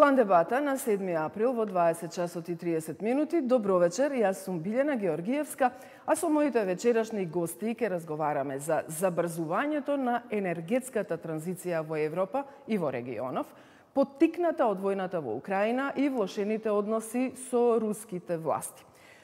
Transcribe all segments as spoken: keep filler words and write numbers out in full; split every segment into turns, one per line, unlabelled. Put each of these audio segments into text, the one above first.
Клан дебата на седми април во дваесет часот и триесет минути. Добро вечер, јас сум Билјана Георгиевска, а со моите вечерашни гости ќе разговараме за забрзувањето на енергетската транзиција во Европа и во регионов, поттикната од војната во Украина и влошените односи со руските власти.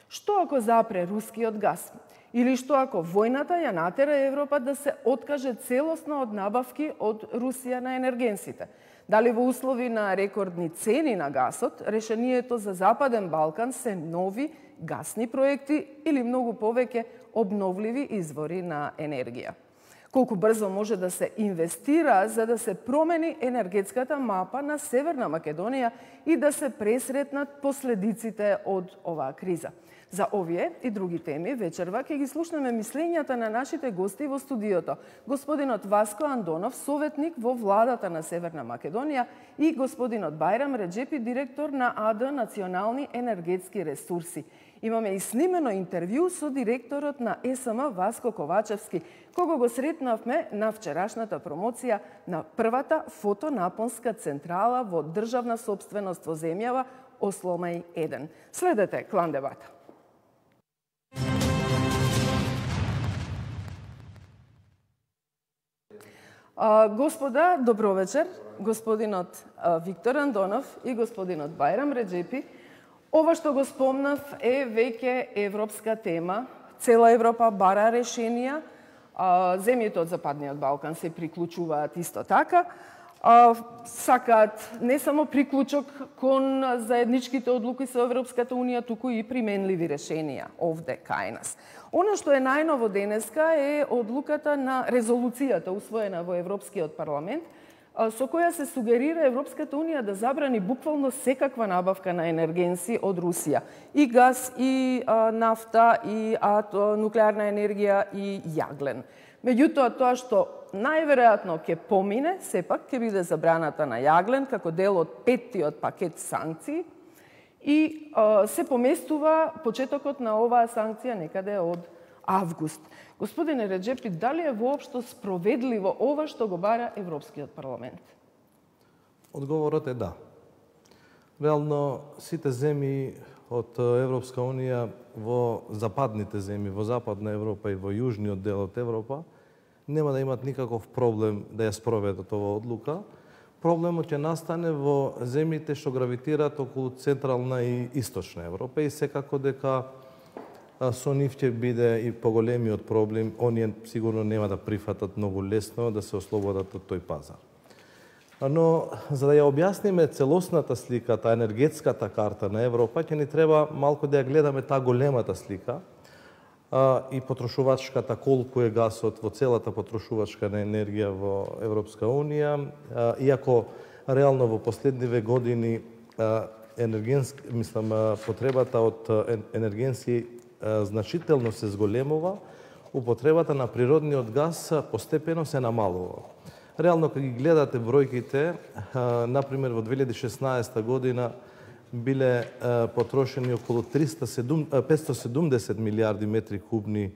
Што ако запре рускиот газ? Или што ако војната ја натера Европа да се откаже целосно од набавки од Русија на енергенсите? Дали во услови на рекордни цени на гасот, решението за Западен Балкан се нови гасни проекти или многу повеќе обновливи извори на енергија? Колку брзо може да се инвестира за да се промени енергетската мапа на Северна Македонија и да се пресретнат последиците од оваа криза? За овие и други теми вечерва ќе ги слушнеме мислењата на нашите гости во студиото. Господинот Васко Андонов, советник во владата на Северна Македонија, и господинот Бајрам Реджепи, директор на АД Национални енергетски ресурси. Имаме и снимено интервју со директорот на ЕСМ Васко Ковачевски, кого го сретнавме на вчерашната промоција на првата фотонапонска централа во државна собственост во земјава Осломај еден. Следете Клан дебата. Господа, добро вечер. Господинот Виктор Андонов и господинот Бајрам Реджепи. Ова што го спомнав е веќе европска тема. Цела Европа бара решенија. Земјите од Западниот Балкан се приклучуваат исто така. Сакаат не само приклучок кон заедничките одлуки со Европската Унија, туку и применливи решенија овде кај нас. Оно што е најново денеска е одлуката на резолуцијата усвоена во Европскиот парламент, со која се сугерира Европската Унија да забрани буквално секаква набавка на енергенси од Русија. И газ, и нафта, и нуклеарна енергија, и јаглен. Меѓутоа, тоа што најверојатно ќе помине, сепак ќе биде забраната на јаглен како дел од петтиот пакет санкции и а, се поместува почетокот на оваа санкција некаде од август. Господине Реджепи, дали е воопшто спроведливо ова што го бара Европскиот парламент?
Одговорот е да. Реално, сите земји од Европска Унија во западните земји, во Западна Европа и во јужниот дел од Европа, нема да имат никаков проблем да ја спроведат оваа одлука. Проблемот ќе настане во земјите што гравитираат околу Централна и Источна Европа и секако дека со нив ќе биде и поголемиот проблем. Оние сигурно нема да прифатат многу лесно да се ослободат од тој пазар. Но за да ја објасниме целосната слика, таа енергетската карта на Европа, ќе ни треба малку да ја гледаме таа големата слика а, и потрошувачката, колку е гасот во целата потрошувачка на енергија во Европска Унија. А, иако реално во последниве години а, енергенски, мислам, потребата од енергенси а, значително се зголемува, употребата на природниот газ постепено се намалува. Реално, кога ги гледате бројките, например, во две илјади и шеснаесета година биле потрошени околу петстотини и седумдесет милијарди метри кубни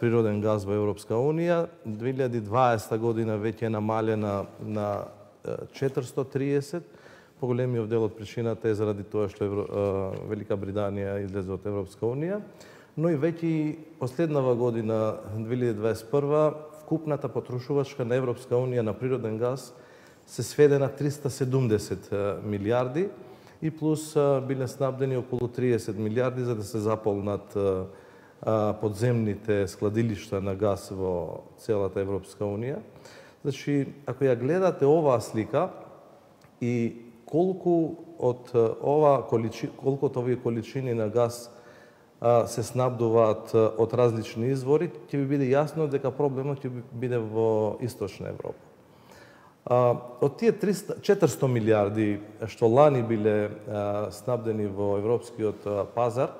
природен газ во Европска Унија. две илјади и дваесета година веќе е намалена на четиристотини и триесет. Поголемиот дел од причината е заради тоа што Велика Британија излезе од Европска Унија. Но и веќе последнава година, две илјади и дваесет и прва, вкупната потрошувачка на Европска Унија на природен газ се сведе на триста и седумдесет милијарди и плюс биле снабдени околу триесет милијарди за да се заполнат подземните складилишта на газ во целата Европска Унија. Значи, ако ја гледате оваа слика и колку од ова количи, колку од овие количини на газ се снабдуваат од различни извори, ќе ви биде јасно дека проблемот ќе биде во Источна Европа. Од тие четиристотини милијарди што лани биле снабдени во европскиот пазар,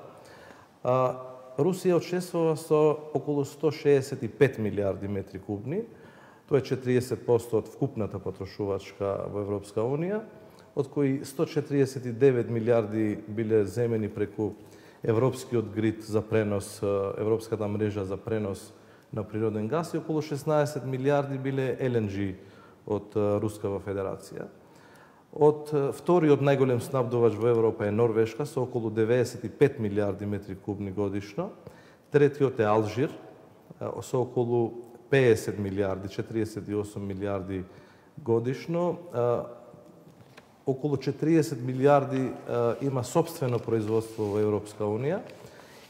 Русија учествува со околу сто шеесет и пет милијарди метри кубни. Тоа е четириесет проценти од вкупната потрошувачка во Европска Унија, од кои сто четириесет и девет милијарди биле земени преку Европскиот грид за пренос, Европската мрежа за пренос на природен газ и околу шеснаесет милијарди биле Ел Ен Джи од Рускава Федерација. Од вториот најголем снабдувач во Европа е Норвешка со околу деветдесет и пет милиарди метри кубни годишно. Третиот е Алжир со околу педесет милиарди, четириесет и осум милиарди годишно. Околу четириесет милиарди има сопствено производство во Европска Унија.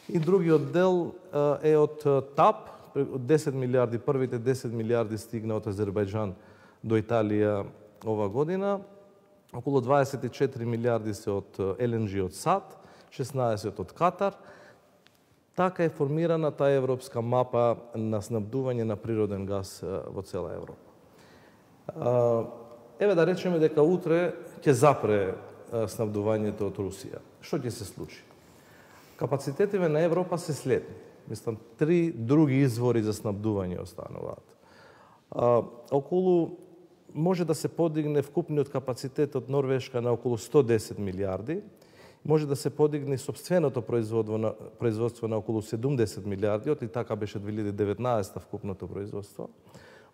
И другиот дел е од ТАП, десет милиарди, првите десет милиарди стигна од Азербајџан до Италија ова година. Околу дваесет и четири милиарди се од Ел Ен Джи од САД, шеснаесет од Катар. Така е формирана таа европска мапа на снабдување на природен газ во цела Европа. Еве да речеме дека утре ќе запре снабдувањето од Русија. Што ќе се случи? Капацитетиве на Европа се следни. Мислам, три други извори за снабдување остануваат. Околу може да се подигне вкупниот капацитет од Норвешка на околу сто десет милиарди, може да се подигне собственото производство на, производство на околу седумдесет милиарди, и така беше две илјади и деветнаесета вкупното производство.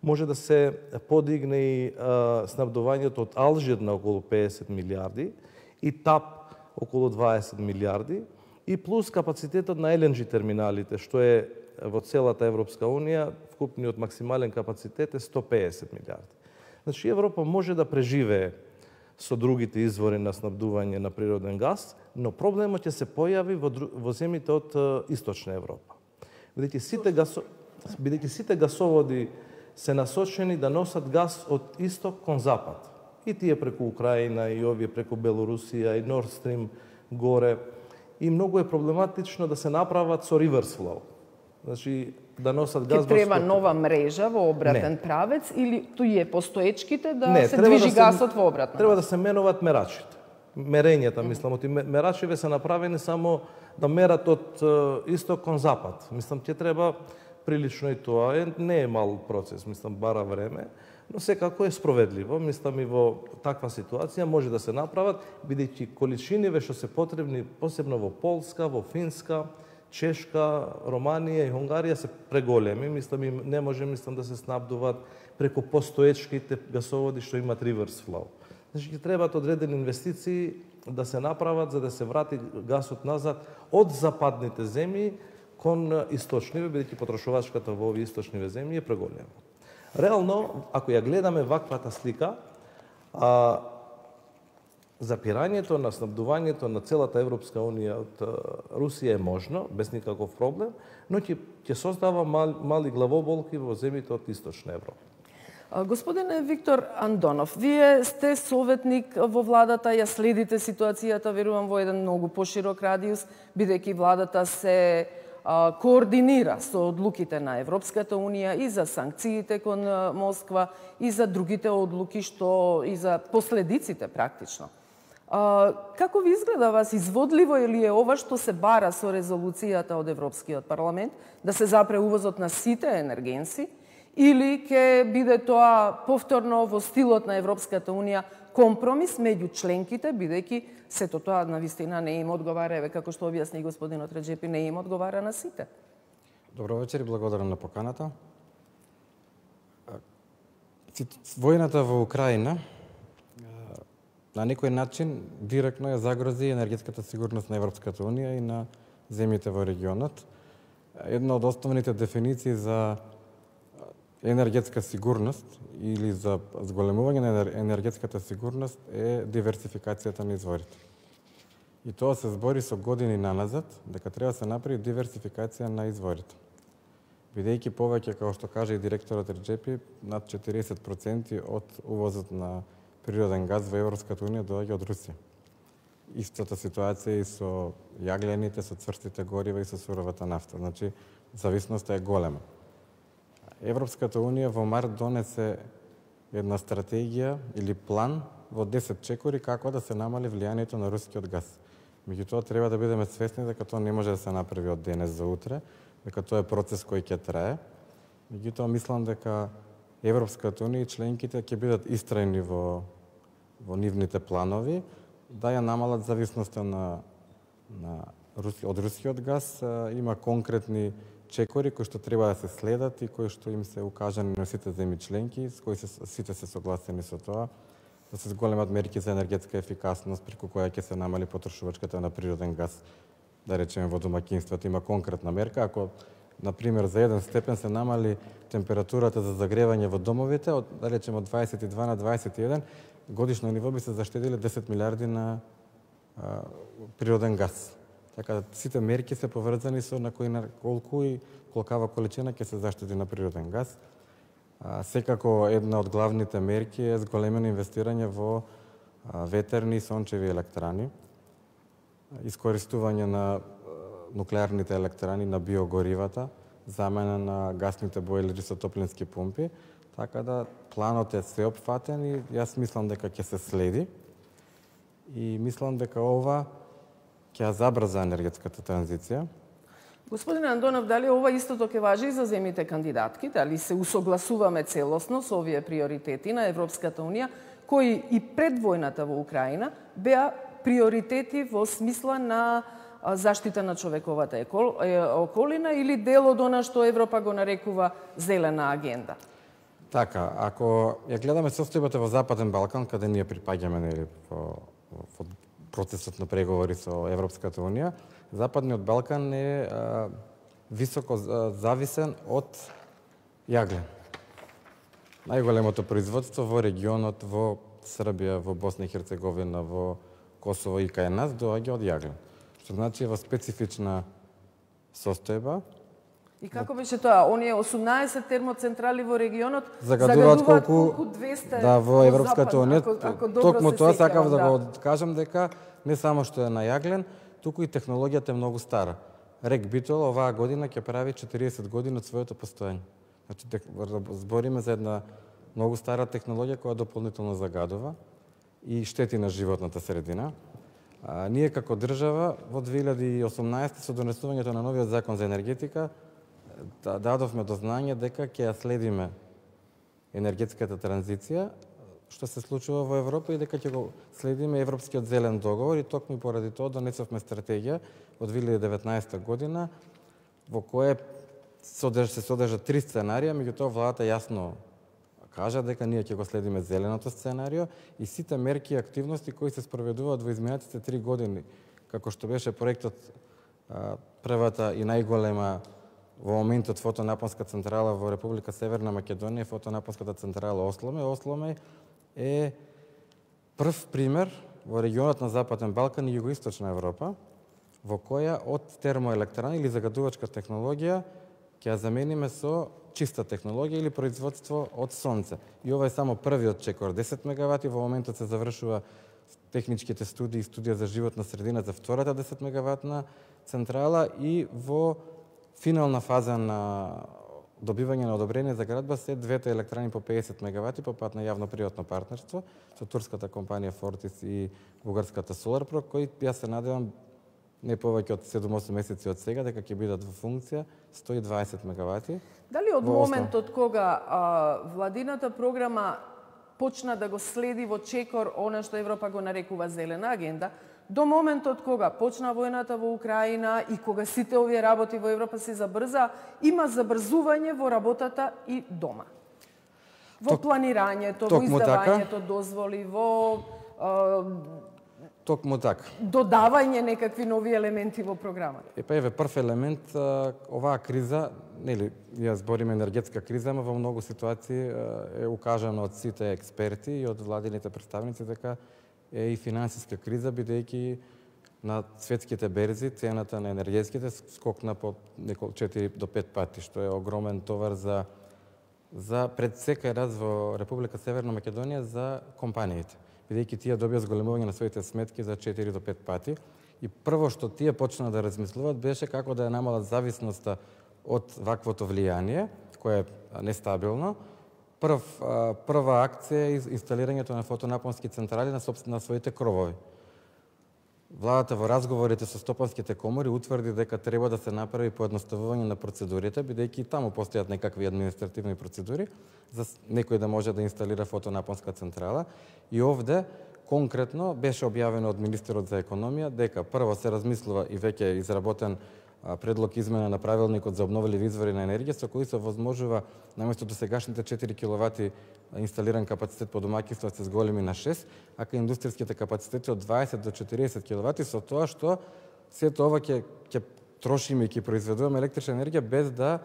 Може да се подигне и а, снабдувањето од Алжир на околу педесет милиарди и ТАП околу дваесет милиарди и плюс капацитетот на Ел Ен Джи терминалите, што е во целата Европска Унија, вкупниот максимален капацитет е сто педесет милиарди. Значи, Европа може да преживее со другите извори на снабдување на природен газ, но проблемот ќе се појави во, во земјите од Источна Европа. Бидејќи сите, гасо, бидејќи сите гасоводи се насочени да носат газ од исток кон запад. И тие преку Украина, и овие преку Белорусија, и Nord Stream горе. И многу е проблематично да се направат со reverse flow. Значи, да носат газ...
Ке треба нова мрежа во обратен не. правец или туие постоечките да
не,
се движи да гасот во обратна?
Треба да се менуваат мерачите. Мерењата, мислам, оти мерачиве се направени само да мерат од исток кон запад. Мислам, ќе треба прилично и тоа. Е, не е мал процес, мислам, бара време, но секако е спроведливо. Мислам, и во таква ситуација може да се направат, бидејќи количиниве што се потребни, посебно во Полска, во Финска, Чешка, Романија и Унгарија се преголеми. Мислам, им не може, мислам, да се снабдуваат преку постоечките гасоводи што имат reverse flow. Значи, ќе требаат одредени инвестиции да се направат за да се врати гасот назад од западните земји кон источниве, бидејќи потрошувачката во овие источниве земји е преголема. Реално, ако ја гледаме ваквата слика, а, запирањето на снабдувањето на целата Европска Унија од Русија е можно, без никаков проблем, но ќе, ќе создава мал, мали главоболки во земјите од Источна Европа.
Господине Виктор Андонов, вие сте советник во владата, ја следите ситуацијата, верувам, во еден многу поширок радиус, бидејќи владата се а, координира со одлуките на Европската Унија и за санкциите кон Москва, и за другите одлуки, што и за последиците практично. А, како ви изгледа вас, изводливо или е ова што се бара со резолуцијата од Европскиот парламент, да се запре увозот на сите енергенси, или ќе биде тоа повторно во стилот на Европската Унија компромис меѓу членките, бидејќи сето тоа навистина не им одговара, еве како што објасни господинот Реджепи, не им одговара на сите.
Добро вечер и благодарам на поканата. Војната во Украина на некој начин директно ја загрози енергетската сигурност на Европската Унија и на земјите во регионот. Една од основните дефиниции за енергетска сигурност или за зголемување на енергетската сигурност е диверсификацијата на изворите. И тоа се збори со години наназад, дека треба да се направи диверсификација на изворите. Бидејќи повеќе, како што каже и директорот Реджепи, над четириесет проценти од увозот на природен газ во Европската Унија доаѓа од Русија. Истата ситуација и со јаглените, со цврстите горива и со суровата нафта. Значи, зависноста е голема. Европската Унија во март донесе една стратегија или план во десет чекори како да се намали влијанието на рускиот газ. Меѓутоа, треба да бидеме свесни дека тоа не може да се направи од денес за утре, дека тоа е процес кој ќе трае. Меѓутоа, мислам дека Европската Унија и членките ќе бидат истрајни во, во нивните планови, да ја намалат зависноста на, на Руси, од рускиот газ. Има конкретни чекори кои што треба да се следат и кои што им се укажани на сите земји членки, с кои се, сите се согласени со тоа. да се зголемат мерки за енергетска ефикасност, преку која ќе се намали потрошувачката на природен газ, да речеме во домаќинствата. Има конкретна мерка. Ако, например, за еден степен се намали температурата за загревање во домовите, од, да речеме, од дваесет и два на дваесет и еден, годишно ниво би се заштедиле десет милиарди на а, природен газ. Така, сите мерки се поврзани со на кој на колку и колкава количина ќе се заштеди на природен газ. А, секако една од главните мерки е зголемено инвестирање во а, ветерни и сончеви електрани, искористување на нуклеарните електрани, на биогоривата, замена на гасните бойлери со топлински пумпи, така да планот е сеопфатен и јас мислам дека ќе се следи и мислам дека ова ќе ја забрза енергетската транзиција.
Господин Андонов, дали ова истото ќе важи и за земјите кандидатки? Дали се усогласуваме целосно со овие приоритети на Европската Унија, кои и пред војната во Украина беа приоритети во смисла на заштита на човековата околина или дел од она што Европа го нарекува зелена агенда?
Така, ако ја гледаме состојбата во Западен Балкан, каде ние припаѓаме нели во, во процесот на преговори со Европската Унија, Западниот Балкан е а, високо зависен од јаглен. Најголемото производство во регионот, во Србија, во Босна и Херцеговина, во Косово и кај нас доаѓа од јаглен. Што значи во специфична состојба.
И како беше тоа? Оние осумнаесет термоцентрали во регионот
загадуваат колку,
колку двесте
да, во Европската Унија. Токму тоа сакав да, да го кажам дека не само што е на јаглен, туку и технологијата е многу стара. Рек Битол оваа година ќе прави четириесет години од своето постоење. Значи збориме за една многу стара технологија која дополнително загадува и штети на животната средина. А, ние како држава во две илјади и осумнаесета со донесувањето на новиот закон за енергетика да, дадовме до знање дека ќе ја следиме енергетската транзиција што се случува во Европа и дека ќе го следиме Европскиот зелен договор и токму поради тоа донесовме стратегија од две илјади и деветнаесета година во која се содржа три сценарија, меѓутоа владата јасно кажа дека ние ќе го следиме зеленото сценарио и сите мерки и активности кои се спроведуваат во изминатите три години, како што беше проектот првата и најголема во моментот фотонапонска централа во Република Северна Македонија, фотонапонската централа Осломе. Осломе е прв пример во регионот на Западен Балкан и Југоисточна Европа, во која од термоелектрана или загадувачка технологија ќе ја замениме со чиста технологија или производство од сонце. И ова е само првиот чекор, десет мегавати, во моментот се завршува техничките студии и студија за животна средина за втората десет мегаватна централа и во финална фаза на добивање на одобрение за градба се двете електрани по педесет мегавати по пат на јавно-приватно партнерство со турската компанија Fortis и бугарската Solarpro, кои јас се надевам не повеќе од седум-осум месеци од сега дека ќе бидат во функција сто и дваесет мегавати.
Дали од моментот кога а, владината програма почна да го следи во чекор она што Европа го нарекува зелена агенда, до моментот кога почна војната во Украина и кога сите овие работи во Европа се забрза, има забрзување во работата и дома. Во Ток, планирањето, во издавањето така? дозволи, во а,
Токму така.
додавање некакви нови елементи во програмата.
Е, па еве прв елемент, оваа криза, нели, ја збориме енергетска криза, ама во многу ситуации е укажано од сите експерти и од владините представници дека е и финансиска криза, бидејќи на светските берзи цената на енергетските скокна по неколку четири до пет пати, што е огромен товар за за пред секој раз во Република Северна Македонија за компаниите, бидејќи тие добија зголемување на своите сметки за четири до пет пати. И прво што тие почна да размислуваат беше како да ја намалат зависноста од ваквото влијание, кое е нестабилно. Прв, прва акција е инсталирањето на фотонапонски централи на, на своите кровови. Владата во разговорите со стопанските комори утврди дека треба да се направи поедноставување на процедурите, бидејќи таму постојат некакви административни процедури за некој да може да инсталира фотонапонска централа. И овде конкретно беше објавено од министерот за економија дека прво се размислува и веќе е изработен предлог измена на правилникот за обновливи извори на енергија, со кој се возможува наместо досегашните четири киловати инсталиран капацитет по домаќинства се зголеми на шест, а кај индустријските капацитети од дваесет до четириесет киловати, со тоа што сето ова ќе ќе трошиме и ќе произведуваме електрична енергија без да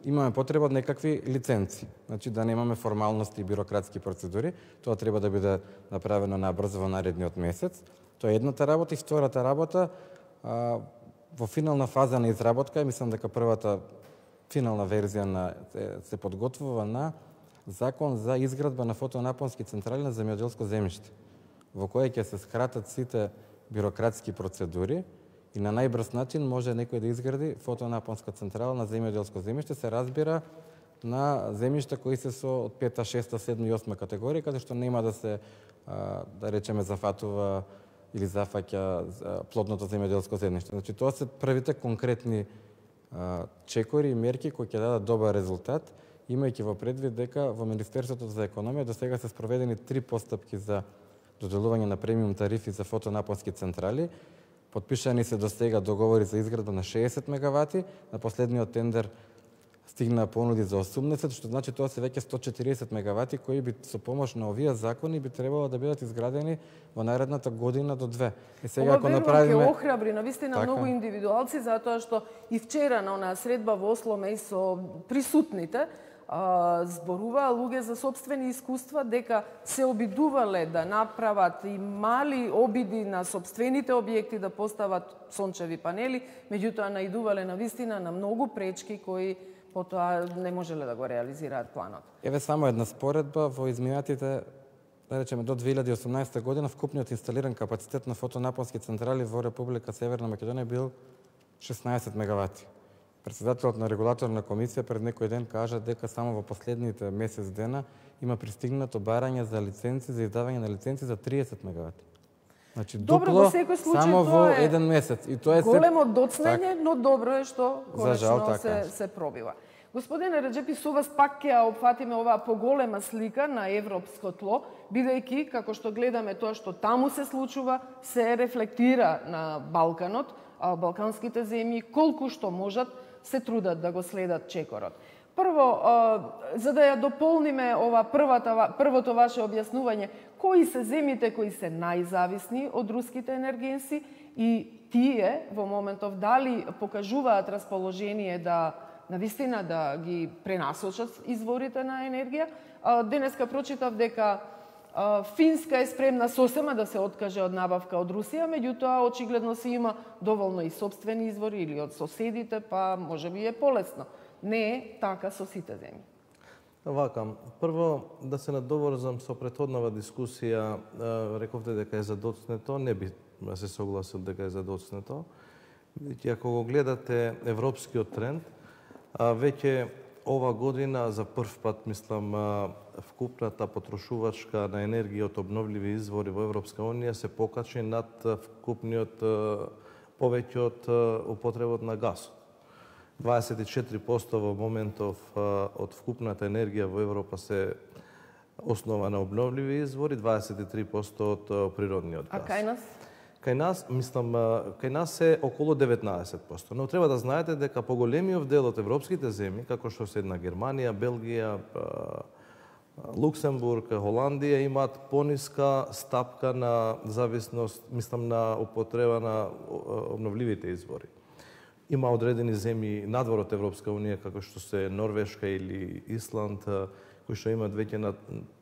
имаме потреба од некакви лиценци. Значи да немаме формалности и бирократски процедури. Тоа треба да биде направено набрзо во наредниот месец. Тоа е едната работа и втората работа а, во финална фаза на изработка, мислам дека првата финална верзија на се, се подготвува на закон за изградба на фотонапонски централи на земјоделско земјиште, во кој ќе се скратат сите бирократски процедури и на најбрз начин може некој да изгради фотонапонска централа на земјоделско земјиште, се разбира на земјишта кои се со од пета, шеста, седма и осма категорија, каде што нема да се, да речеме, зафатува или зафаќа плодното земјоделско земјиште. Значи, тоа се првите конкретни чекори и мерки кои ќе дадат добар резултат, имајќи во предвид дека во Министерството за економија до сега се спроведени три постапки за доделување на премиум тарифи за фотонапонски централи. Подпишани се до сега договори за изградба на шеесет мегавати, на последниот тендер стигна понуди за осумдесет, што значи тоа се веќе сто четириесет мегавати кои би со помош на овие закони би требало да бидат изградени во наредната година до две.
И сега ова ако направиме ќе охрабри навистина така многу индивидуалци, затоа што и вчера на онаа средба во Осло меѓу со присутните а, зборуваа луѓе за сопствени искуства дека се обидувале да направат и мали обиди на сопствените објекти да постават сончеви панели, меѓутоа наидувале навистина на многу пречки кои потоа не можеле да го реализираат планот.
Еве само една споредба во изминатите, да речеме, до две илјади и осумнаесета година вкупниот инсталиран капацитет на фотонапонски централи во Република Северна Македонија бил шеснаесет мегавати. Председателот на регулаторна комисија пред некој ден кажа дека само во последните месец дена има пристигнато барање за лиценци, за издавање на лиценци за триесет мегавати. Значи,
добро,
дупло
во секој случај,
само во
е
еден месец. И тоа е
големо доцнење, но добро е што
конечно
така се, се пробива. Господине Реджепи, со вас пак ќе опфатиме оваа поголема слика на европско тло, бидејќи, како што гледаме тоа што таму се случува, се рефлектира на Балканот, а балканските земји колку што можат се трудат да го следат чекорот. Прво, за да ја дополниме ова првата, првото ваше објаснување, кои се земјите кои се најзависни од руските енергенси и тие во моментов дали покажуваат расположение да навистина да ги пренасочат изворите на енергија. Денеска прочитав дека Финска е спремна сосема да се откаже од набавка од Русија, меѓутоа очигледно си има доволно и сопствени извори или од соседите, па можеби е полесно. Не е така со сите земји.
Вака, прво да се надоврзам со претходнава дискусија, рековте дека е задоцнето, не би се согласил дека е задоцнето. Бидејќи ако го гледате европскиот тренд, веќе ова година за прв пат, мислам, вкупната потрошувачка на енергија од обновливи извори во Европска Унија се покачи над вкупниот повеќе од употребот на газ. дваесет и четири проценти во моментов од вкупната енергија во Европа се основа на обновливи извори, дваесет и три проценти од природниот газ.
А кај нас?
Кај нас, мислам, кај нас е околу деветнаесет проценти. Но треба да знаете дека поголемиот дел од европските земји, како што се една Германија, Белгија, Луксембург, Холандија, имаат пониска стапка на зависност, мислам, на употреба на обновливите извори. Има одредени земји надвор од Европска Унија, како што се Норвешка или Исланд, кои што имаат веќе на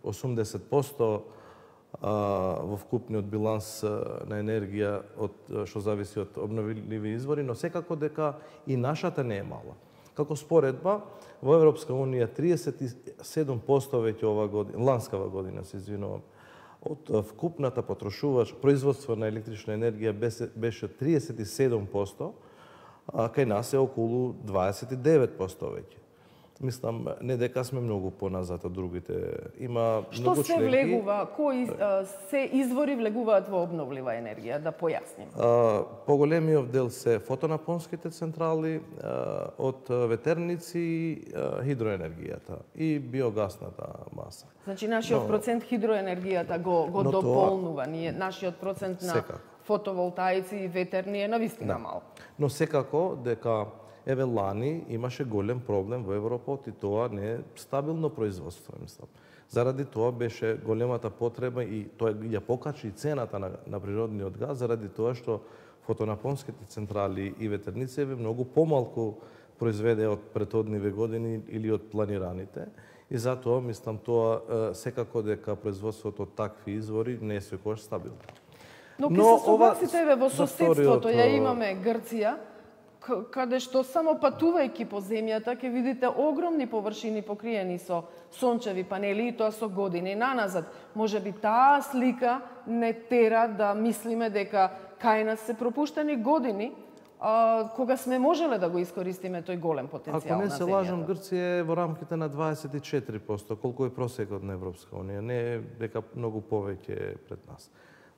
осумдесет проценти во вкупниот биланс на енергија од што зависи од обновливи извори, но секако дека и нашата не е мала. Како споредба, во Европска Унија триесет и седум проценти веќе ова година, ланскава година, се извинувам, од вкупната потрошувач, производство на електрична енергија беше триесет и седум проценти, а кај нас е околу дваесет и девет проценти веќе. Мислам, не дека сме многу поназад од другите. Има
Што
многу
се
членки.
влегува, кои а, се извори влегуваат во обновлива енергија, да појасним?
А, поголемиот дел се фотонапонските централи, а, од ветерници и а, хидроенергијата и биогасната маса.
Значи нашиот
но,
процент хидроенергијата го го дополнува, ние нашиот процент на
секако.
фотоволтаици и ветерни е навистина
Да.
мал.
Но секако дека еве лани имаше голем проблем во Европа и тоа не е стабилно производство, мислам. Заради тоа беше големата потреба и тоа ја покачи цената на, на природниот газ, заради тоа што фотонапонските централи и ветерници многу помалку произведе од претhodниве години или од планираните. И затоа, мислам, тоа секако дека производството од такви извори не е секогаш стабилно.
Но ке се согласите, еве, во соседството ја имаме Грција, каде што само патувајќи по земјата ќе видите огромни површини покриени со сончеви панели и тоа со години наназад. Може би таа слика не тера да мислиме дека кај нас се пропуштени години а, кога сме можеле да го искористиме тој голем потенцијал
Ако не
на
се
земјата.
лажам, Грција е во рамките на дваесет и четири проценти, колку е просекот на Европска унија. Не е дека многу повеќе пред нас.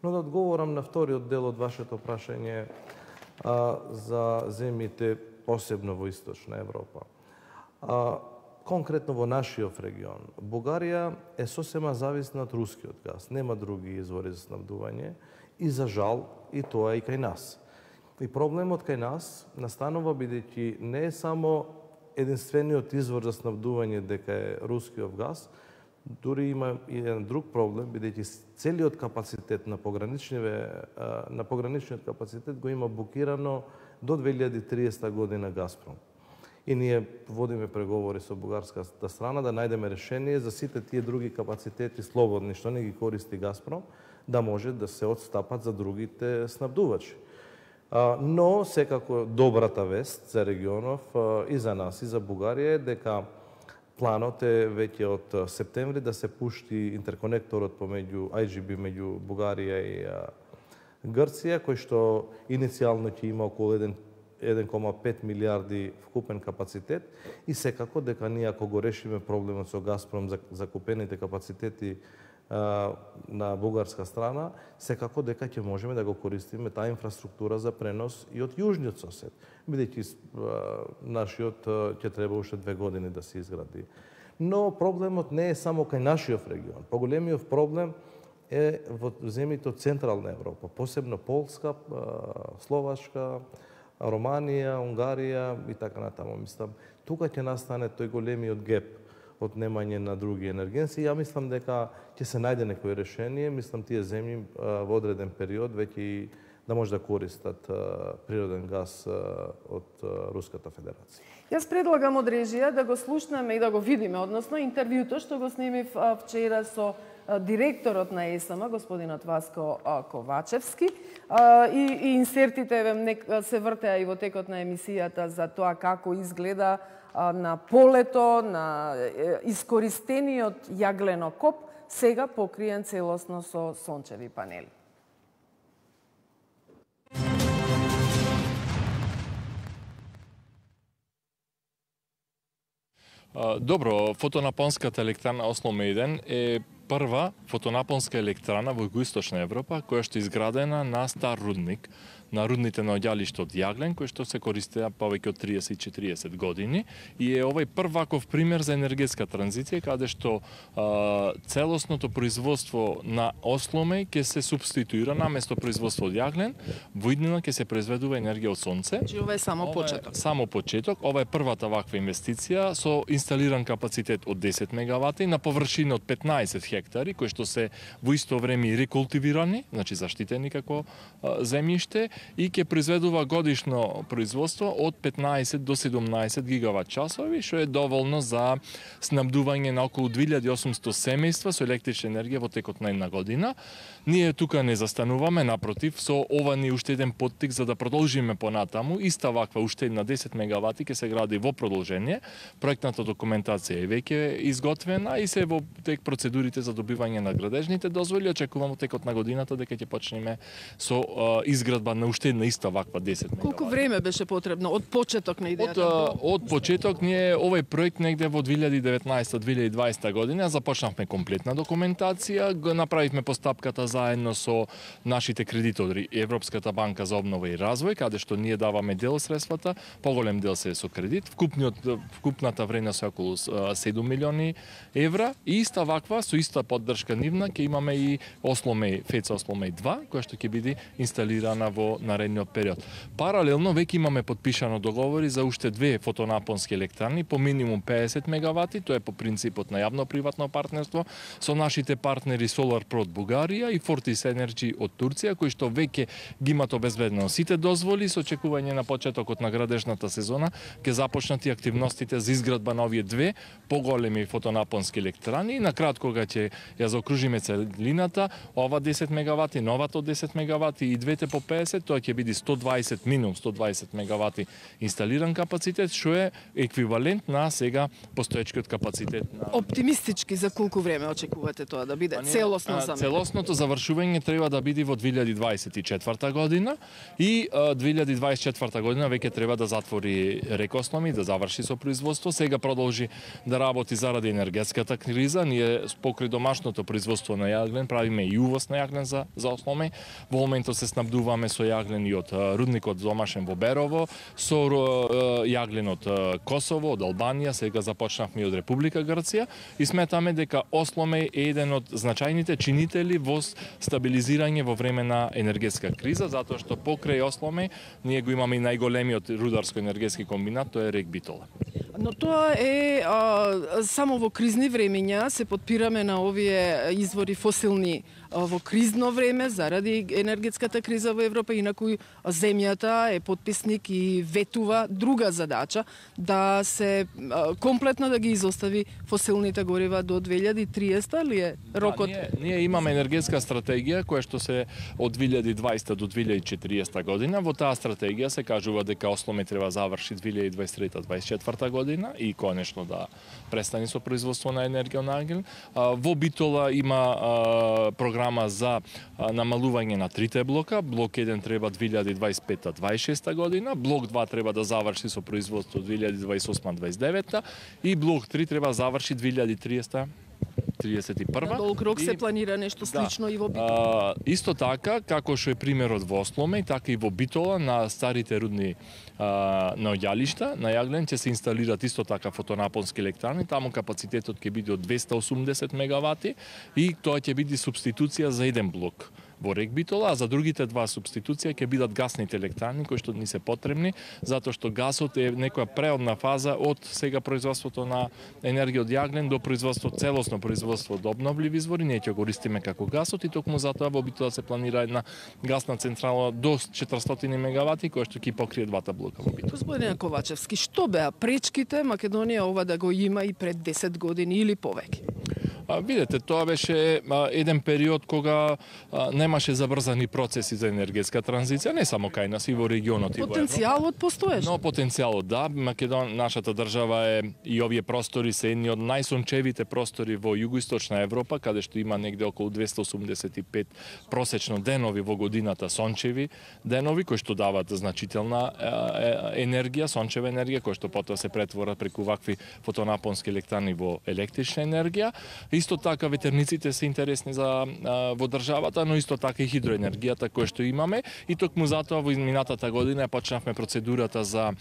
Но да одговорам на вториот дел од вашето прашање а, за земјите, посебно во Источна Европа. А, конкретно во нашиот регион, Бугарија е сосема зависна од рускиот газ. Нема други извори за снабдување и за жал и тоа и кај нас. И проблемот кај нас настанува бидејќи не е само единствениот извор за снабдување дека е рускиот газ, дури има и еден друг проблем, бидејќи целиот капацитет на пограничниве на пограничниот капацитет го има букирано до две илјади и триесета година Газпром. И ние водиме преговори со бугарската страна да најдеме решение за сите тие други капацитети слободни што не ги користи Газпром, да може да се одстапат за другите снабдувачи. Но секако добрата вест за регионов и за нас и за Бугарија е дека планот е веќе од септември да се пушти интерконекторот помеѓу ай джи би меѓу Бугарија и Грција, кој што иницијално ќе има околу еден кома пет милијарди вкупен капацитет и секако дека ние ако го решиме проблемот со Газпром за закупените капацитети а, на бугарска страна, секако дека ќе можеме да го користиме таа инфраструктура за пренос и од јужниот сосед, бидејќи нашиот ќе треба уште две години да се изгради. Но проблемот не е само кај нашиот регион. Поголемиот проблем е во земјите од Централна Европа, посебно Полска, Словачка, Романија, Унгарија и така натаму. Мислам, тука ќе настане тој големиот геп од немање на други енергенси. Ја мислам дека ќе се најде некој решение. Мислам, тие земји во одреден период веќе да може да користат природен газ од Руската Федерација.
Јас предлагам од режија да го слушнеме и да го видиме, односно интервјуто што го снимив вчера со директорот на ЕС М, господинот Васко Ковачевски, и, и инсертите се вртеа и во текот на емисијата за тоа како изгледа на полето, на искористениот јагленокоп, сега покриен целосно со сончеви панели.
Добро, фотонапонската електрана Осло еден е прва фотонапонска електрана во Југоисточна Европа која што е изградена на стар рудник, на рудните наоѓалишта од јаглен, кои што се користеа повеќе од триесет и четириесет години и е овој прв ваков пример за енергетска транзиција каде што а, целосното производство на осломе ќе се субституира наместо производство од јаглен, во иднина ќе се произведува енергија од сонце.
Значи ова е само почеток.
Само почеток, ова е првата ваква инвестиција со инсталиран капацитет од десет мегавати на површина од петнаесет хектари, кои што се во исто време и рекултивирани, значи заштитени како а, земјиште, и ќе произведува годишно производство од петнаесет до седумнаесет гигават часови, што е доволно за снабдување на околу две илјади и осумсто семејства со електрична енергија во текот на една година. Ние тука не застануваме, напротив, со ова ни уште еден поттик за да продолжиме понатаму. Иста ваква уште една десет мегавати ќе се гради во продолжение. Проектната документација е веќе изготвена и се во тек процедурите за добивање на градежните дозволи. Очекуваме текот на годината дека ќе почнеме со а, изградба на уште една иста ваква десет мегавати.
Колку време беше потребно од почеток на идејата?
Од, од почеток ние овој проект негде во две илјади и деветнаесета две илјади и дваесета година започнавме комплетна документација, го направивме постапката заедно со нашите кредитори, Европската банка за обнова и развој, каде што ние даваме дел средствата, поголем дел се со кредит, вкупниот вкупната вредност е околу седум милиони евра и иста ваква со иста поддршка нивна ќе имаме и Осломеј, ФЕЦ Осломеј два, која што ќе биде инсталирана во наредниот период. Паралелно веќе имаме подпишано договори за уште две фотонапонски електрани по минимум педесет мегавати, тоа е по принципот на јавно-приватно партнерство со нашите партнери SolarPro од Бугарија и Fortis Energy од Турција, кои што веќе ги имат обезбедено сите дозволи со очекување на почетокот на градежната сезона ќе започнат и активностите за изградба на овие две поголеми фотонапонски електрани и на крат кога ќе ја заокружиме целината, ова десет мегавати, новата од десет мегавати и двете по педесет, тоа ќе биде сто дваесет минимум сто дваесет мегавати инсталиран капацитет, што е еквивалент на сега постоечкиот капацитет на...
Оптимистички за колку време очекувате тоа да биде целосно за
Целосното завршување треба да биде во две илјади дваесет и четврта година и две илјади дваесет и четврта година веќе треба да затвори Рекослом и да заврши со производство. Сега продолжи да работи заради енергетската криза. Ние покрај домашното производство на јаглен правиме и увоз на јаглен за за Осломеј. Во моментот се снабдуваме со јаглен и од рудникот домашен во Берово, со јаглен од Косово, од Албанија, сега започнавме и од Република Грција и сметаме дека Осломеј е еден од значајните чинители во стабилизирање во време на енергетска криза, затоа што покрај Осломеј ние го имаме и најголемиот рударско-енергетски комбинат, тоа е РЕК Битола.
Но тоа е а, само во кризни времења се подпираме на овие извори фосилни а, во кризно време заради енергетската криза во Европа, инаку земјата е потписник и ветува друга задача да се а, комплетно да ги изостави фосилните горива до две илјади и триесета ли е рокот?
Да, ние, ние имаме енергетска стратегија која што се од две илјади и дваесета до две илјади и четириесета година. Во таа стратегија се кажува дека Осломеј треба заврши две илјади и дваесет и трета дваесет и четврта година и конечно да престани со производство на енергија на агел. Во Битола има програма за намалување на трите блока. Блок еден треба две илјади дваесет и пета дваесет и шеста година, блок два треба да заврши со производство две илјади дваесет и осма дваесет и девета и блок три треба заврши две илјади и триесета триесет и прва.
На долг рок
и...
се планира нешто слично да. И во
А,
Битола.
исто така, како што е примерот во Осломеј, така и во Битола на старите рудни а, наоѓалишта на јаглен ќе се инсталират исто така фотонапонски електрани, таму капацитетот ќе биде од двесте и осумдесет мегавати и тоа ќе биде субституција за еден блок во РЕК Битола, а за другите два субституција ќе бидат гасните електрани кои што ни се потребни, затоа што гасот е некоја преодна фаза од сега производството на енергија од јаглен до производство целосно производство од обновливи извори, ние ќе го користиме како гасот и токму затоа во Битола се планира една гасна централа до четиристотини мегавати која што ќе покрие двата блока во Битола.
Господин Ковачевски, што беа пречките Македонија ова да го има и пред десет години или повеќе?
А, видете, тоа беше а, еден период кога а, немаше забрзани процеси за енергетска транзиција, не само кај нас и во регионот и во Европа.
Потенцијалот постоеше.
Но потенцијалот да, Македон, нашата држава е и овие простори се едни од најсончевите простори во југоисточна Европа, каде што има негде околу двесте и осумдесет и пет просечно денови во годината сончеви денови кои што даваат значителна е, е, енергија, сончева енергија која што потоа се претвора преку вакви фотонапонски електрани во електрична енергија. Исто така ветерниците се интересни за а, во државата, но исто така и хидроенергијата која што имаме и токму затоа во минатата година почнавме процедурата за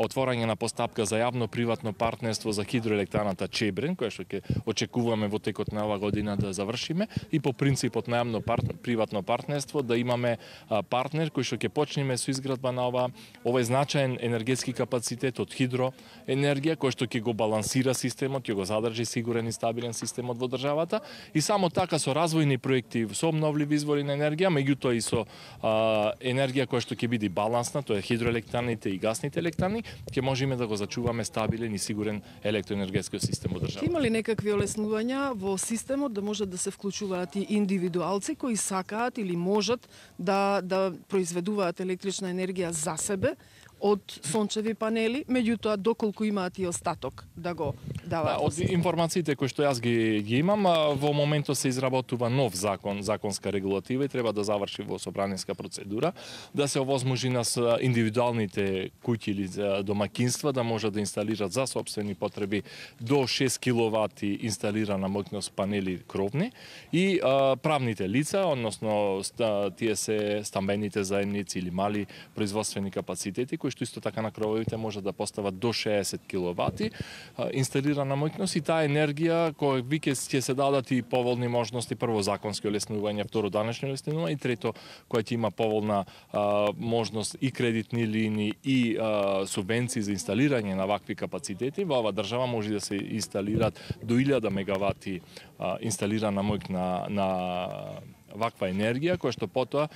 отворање на постапка за јавно-приватно партнерство за хидроелектраната Чебрен, која што ќе очекуваме во текот на оваа година да завршиме и по принципот на јавно-приватно партнерство да имаме а, партнер кој што ќе почнеме со изградба на ова овој значаен енергетски капацитет од хидроенергија кој што ќе го балансира системот, ќе го задржи сигурен и стабилен системот во државата и само така со развојни проекти со обновливи извори на енергија, меѓутоа и со а, енергија која што ќе биде балансна, тоа е хидроелектраните и гасните електрани, ќе можеме да го зачуваме стабилен и сигурен електроенергетски систем во државата.
Има ли некакви олеснувања во системот да можат да се вклучуваат и индивидуалци кои сакаат или можат да да произведуваат електрична енергија за себе од сончеви панели, меѓутоа доколку имаат и остаток да го даваат.
Да, од информациите кои што јас ги, ги имам, во моментот се изработува нов закон, законска регулатива и треба да заврши во собраниска процедура, да се овозможи на индивидуалните куќи или домакинства да можат да инсталираат за сопствени потреби до шест киловати инсталирана моќност панели кровни и а, правните лица, односно тие се стамбените заедници или мали производствени капацитети кои што исто така на крововите можат да постават до шеесет киловати а, инсталирана моќност и таа енергија која веќе ќе се дадат и поволни можности, прво законски олеснување, второ данечни олеснување и трето која ќе има поволна а, можност и кредитни линии и а, субвенции за инсталирање на вакви капацитети. Во ова држава може да се инсталираат до илјада мегавати а, инсталирана моќ на, на ваква енергија, која што потоа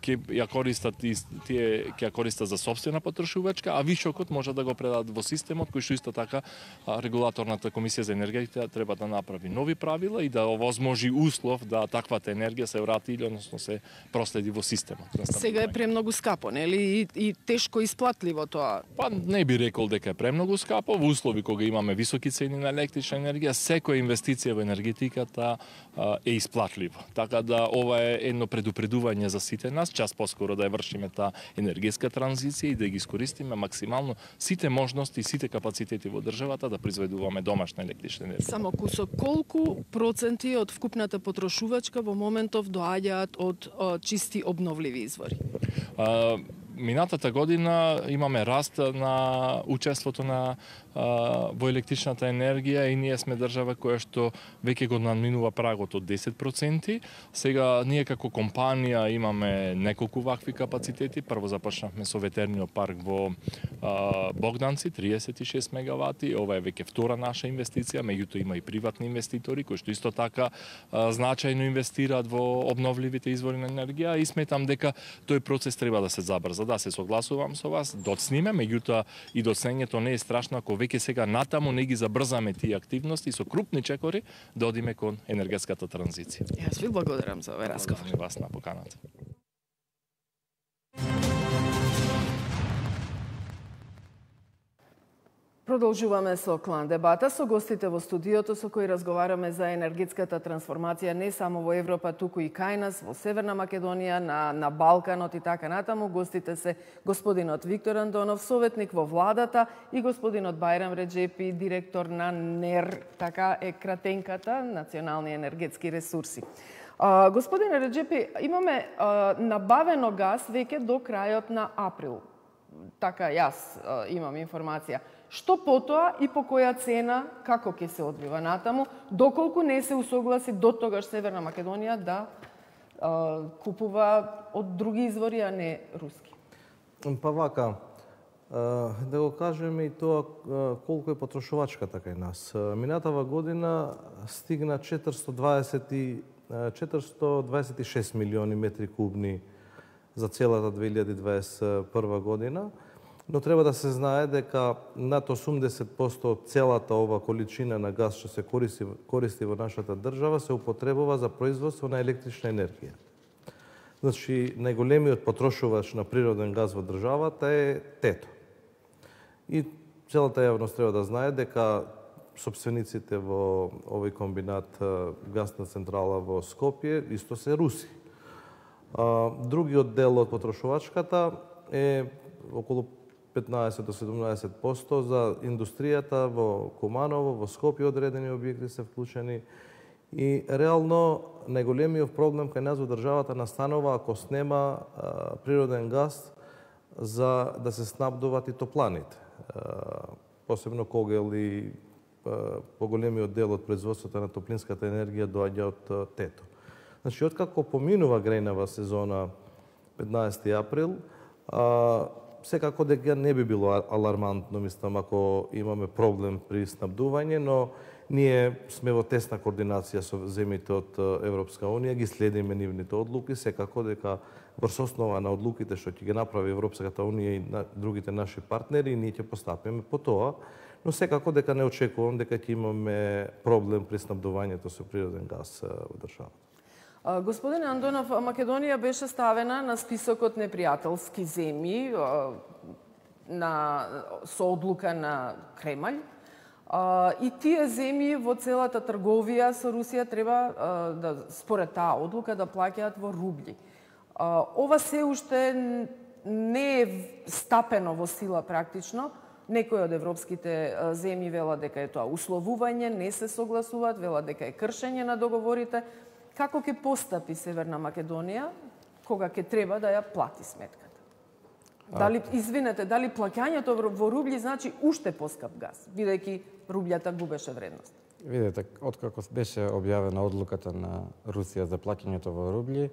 ќе ја користат и тие ќе ја користат за сопствена потрошувачка, а вишокот може да го предадат во системот, кој што исто така регулаторната комисија за енергетика треба да направи нови правила и да овозможи услов да таквата енергија се врати или односно се проследи во системот.
Сега е премногу скапо, нели? И, и тешко исплатливо тоа.
Па не би рекол дека е премногу скапо, во услови кога имаме високи цени на електрична енергија, секоја инвестиција во енергетиката е исплатливо. Така да ова е едно предупредување за сите нас, час поскоро да ја вршиме таа енергетска транзиција и да ги искористиме максимално сите можности и сите капацитети во државата да произведуваме домашна електрична енергија.
Само кусок, колку проценти од вкупната потрошувачка во моментов доаѓаат од о, чисти обновливи извори?
А, минатата година имаме раст на учеството на а, во електричната енергија и ние сме држава која што веќе го надминува прагот од десет проценти. Сега ние како компанија имаме неколку вакви капацитети. Прво започнавме со ветерниот парк во а, Богданци, триесет и шест мегавати. Ова е веќе втора наша инвестиција, меѓутоа има и приватни инвеститори кои што исто така а, значајно инвестираат во обновливите извори на енергија и сметам дека тој процес треба да се забрза. Да, се согласувам со вас, доцниме, меѓутоа и доцнењето не е страшно ако веќе сега натаму не ги забрзаме тие активности со крупни чекори да одиме кон енергетската транзиција.
Јас ви благодарам за овој разговор.
Благодарам вас на поканата.
Продолжуваме со клан дебата со гостите во студиото со кои разговараме за енергетската трансформација не само во Европа, туку и кај нас, во Северна Македонија, на, на Балканот и така натаму. Гостите се господинот Виктор Андонов, советник во владата, и господинот Бајрам Реджепи, директор на НЕР, така е кратенката, Национални енергетски ресурси. А, господине Реджепи, имаме а, набавено газ веќе до крајот на април. Така јас а, имам информација. Што потоа и по која цена, како ќе се одвива натаму, доколку не се усогласи до тогаш Северна Македонија да а, купува од други извори, а не руски?
Па вака, да го кажеме и тоа колку е потрошувачката кај нас. Минатава година стигна четиристо дваесет и шест милиони метри кубни за целата две илјади дваесет и прва година. Но треба да се знае дека над осумдесет проценти од целата ова количина на газ што се користи, користи во нашата држава се употребува за производство на електрична енергија. Значи, најголемиот потрошувач на природен газ во државата е ТЕТО. И целата јавност треба да знае дека сопствениците во овој комбинат гасна централа во Скопје исто се руси. Другиот дел од потрошувачката е околу петнаесет до седумнаесет проценти за индустријата во Куманово, во Скопје одредени објекти се вклучени. И реално најголемиот проблем кај нас во државата настанува ако снема а, природен газ за да се снабдуваат и топланите. А, посебно когел и а, поголемиот дел од производството на топлинската енергија доаѓа од ТЕТО. Значи, откако поминува грејнава сезона петнаесети април, а, секако дека не би било алармантно, мислам, ако имаме проблем при снабдување, но ние сме во тесна координација со земјите од Европска Унија, ги следиме нивните одлуки, секако дека врз основа на одлуките што ќе ги направи Европската Унија и на другите наши партнери, ние ќе постапиме по тоа, но секако дека не очекувам дека ќе имаме проблем при снабдувањето со природен газ во државата.
Господине Андонов, Македонија беше ставена на списокот непријателски земји. на со одлука на Кремљ. А, и тие земји во целата трговија со Русија треба а, да според таа одлука да плаќаат во рубли. А, ова се уште не е стапено во сила практично. Некои од европските земји велат дека е тоа условување, не се согласуваат, велат дека е кршење на договорите. Како ќе постапи Северна Македонија кога ќе треба да ја плати сметката? Дали, извинете, дали плаќањето во рубли значи уште поскап газ, бидејќи рублјата губеше вредност?
Видете, откако беше објавена одлуката на Русија за плаќањето во рубли,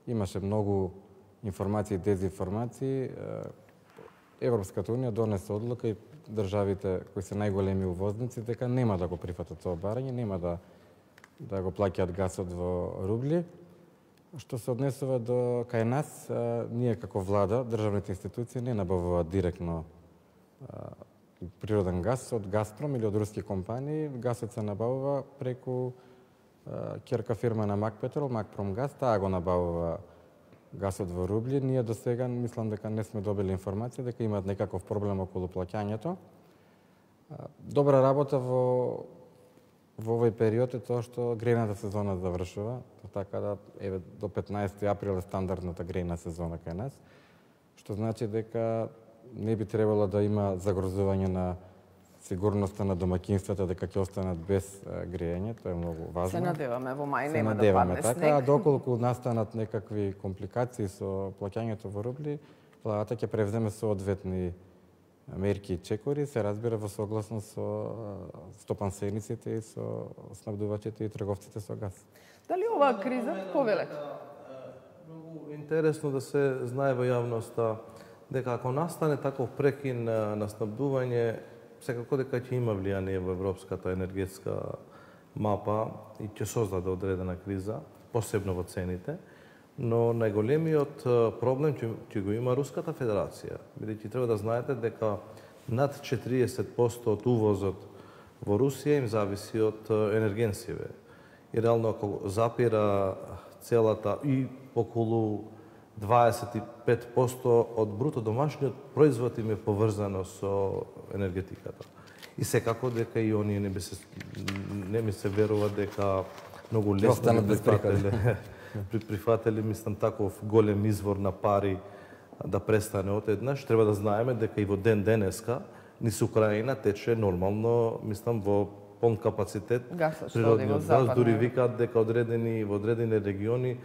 имаше многу информации и дезинформации. Европската унија донесе одлука и државите кои се најголеми увозници дека нема да го прифатат тоа барање, нема да да го плаќаат газот во рубли. Што се однесува до кај нас, а, ние како влада, државните институции не набавуваат директно а, природен газ од Газпром или од руски компании. Газот се набавува преку а, ќерка фирма на Макпетрол, Макпромгаз, таа го набавува газот во рубли. Ние до сега мислам дека не сме добили информација дека имаат некаков проблем околу плаќањето. Добра работа во во овој период е тоа што грејната сезона завршува, така да еве до петнаесети април е стандардната грејна сезона кај нас, што значи дека не би требало да има загрозување на сигурноста на домаќинствата, дека ќе останат без грејање, тоа е многу важно.
Се надеваме во мај
Се
нема да
надеваме,
падне
така,
снег.
а доколку настанат некакви компликации со плаќањето во рубли, владата ќе превземе соодветни мерки и чекори, се разбира во согласно со стопансениците и со снабдувачите и трговците со газ.
Дали оваа криза повеле?
Многу интересно да се знае во јавноста дека ако настане таков прекин на снабдување, секако дека ќе има влијание во европската енергетска мапа и ќе создаде одредена криза, посебно во цените. Но најголемиот проблем ќе, ќе го има Руската Федерација, бидејќи треба да знаете дека над четириесет проценти од увозот во Русија им зависи од енергенсиве. И реално ако запира целата и околу дваесет и пет проценти од бруто домашниот производ им е поврзано со енергетиката. И секако дека и оние не би се не ми се верува дека многу лесно би прифателе при прифатели, мислам, таков голем извор на пари да престане од еднаш. Треба да знаеме дека и во ден денеска низ Украина тече нормално, мислам, во полн капацитет природниот газ. Дури викаат дека одредени во одредени региони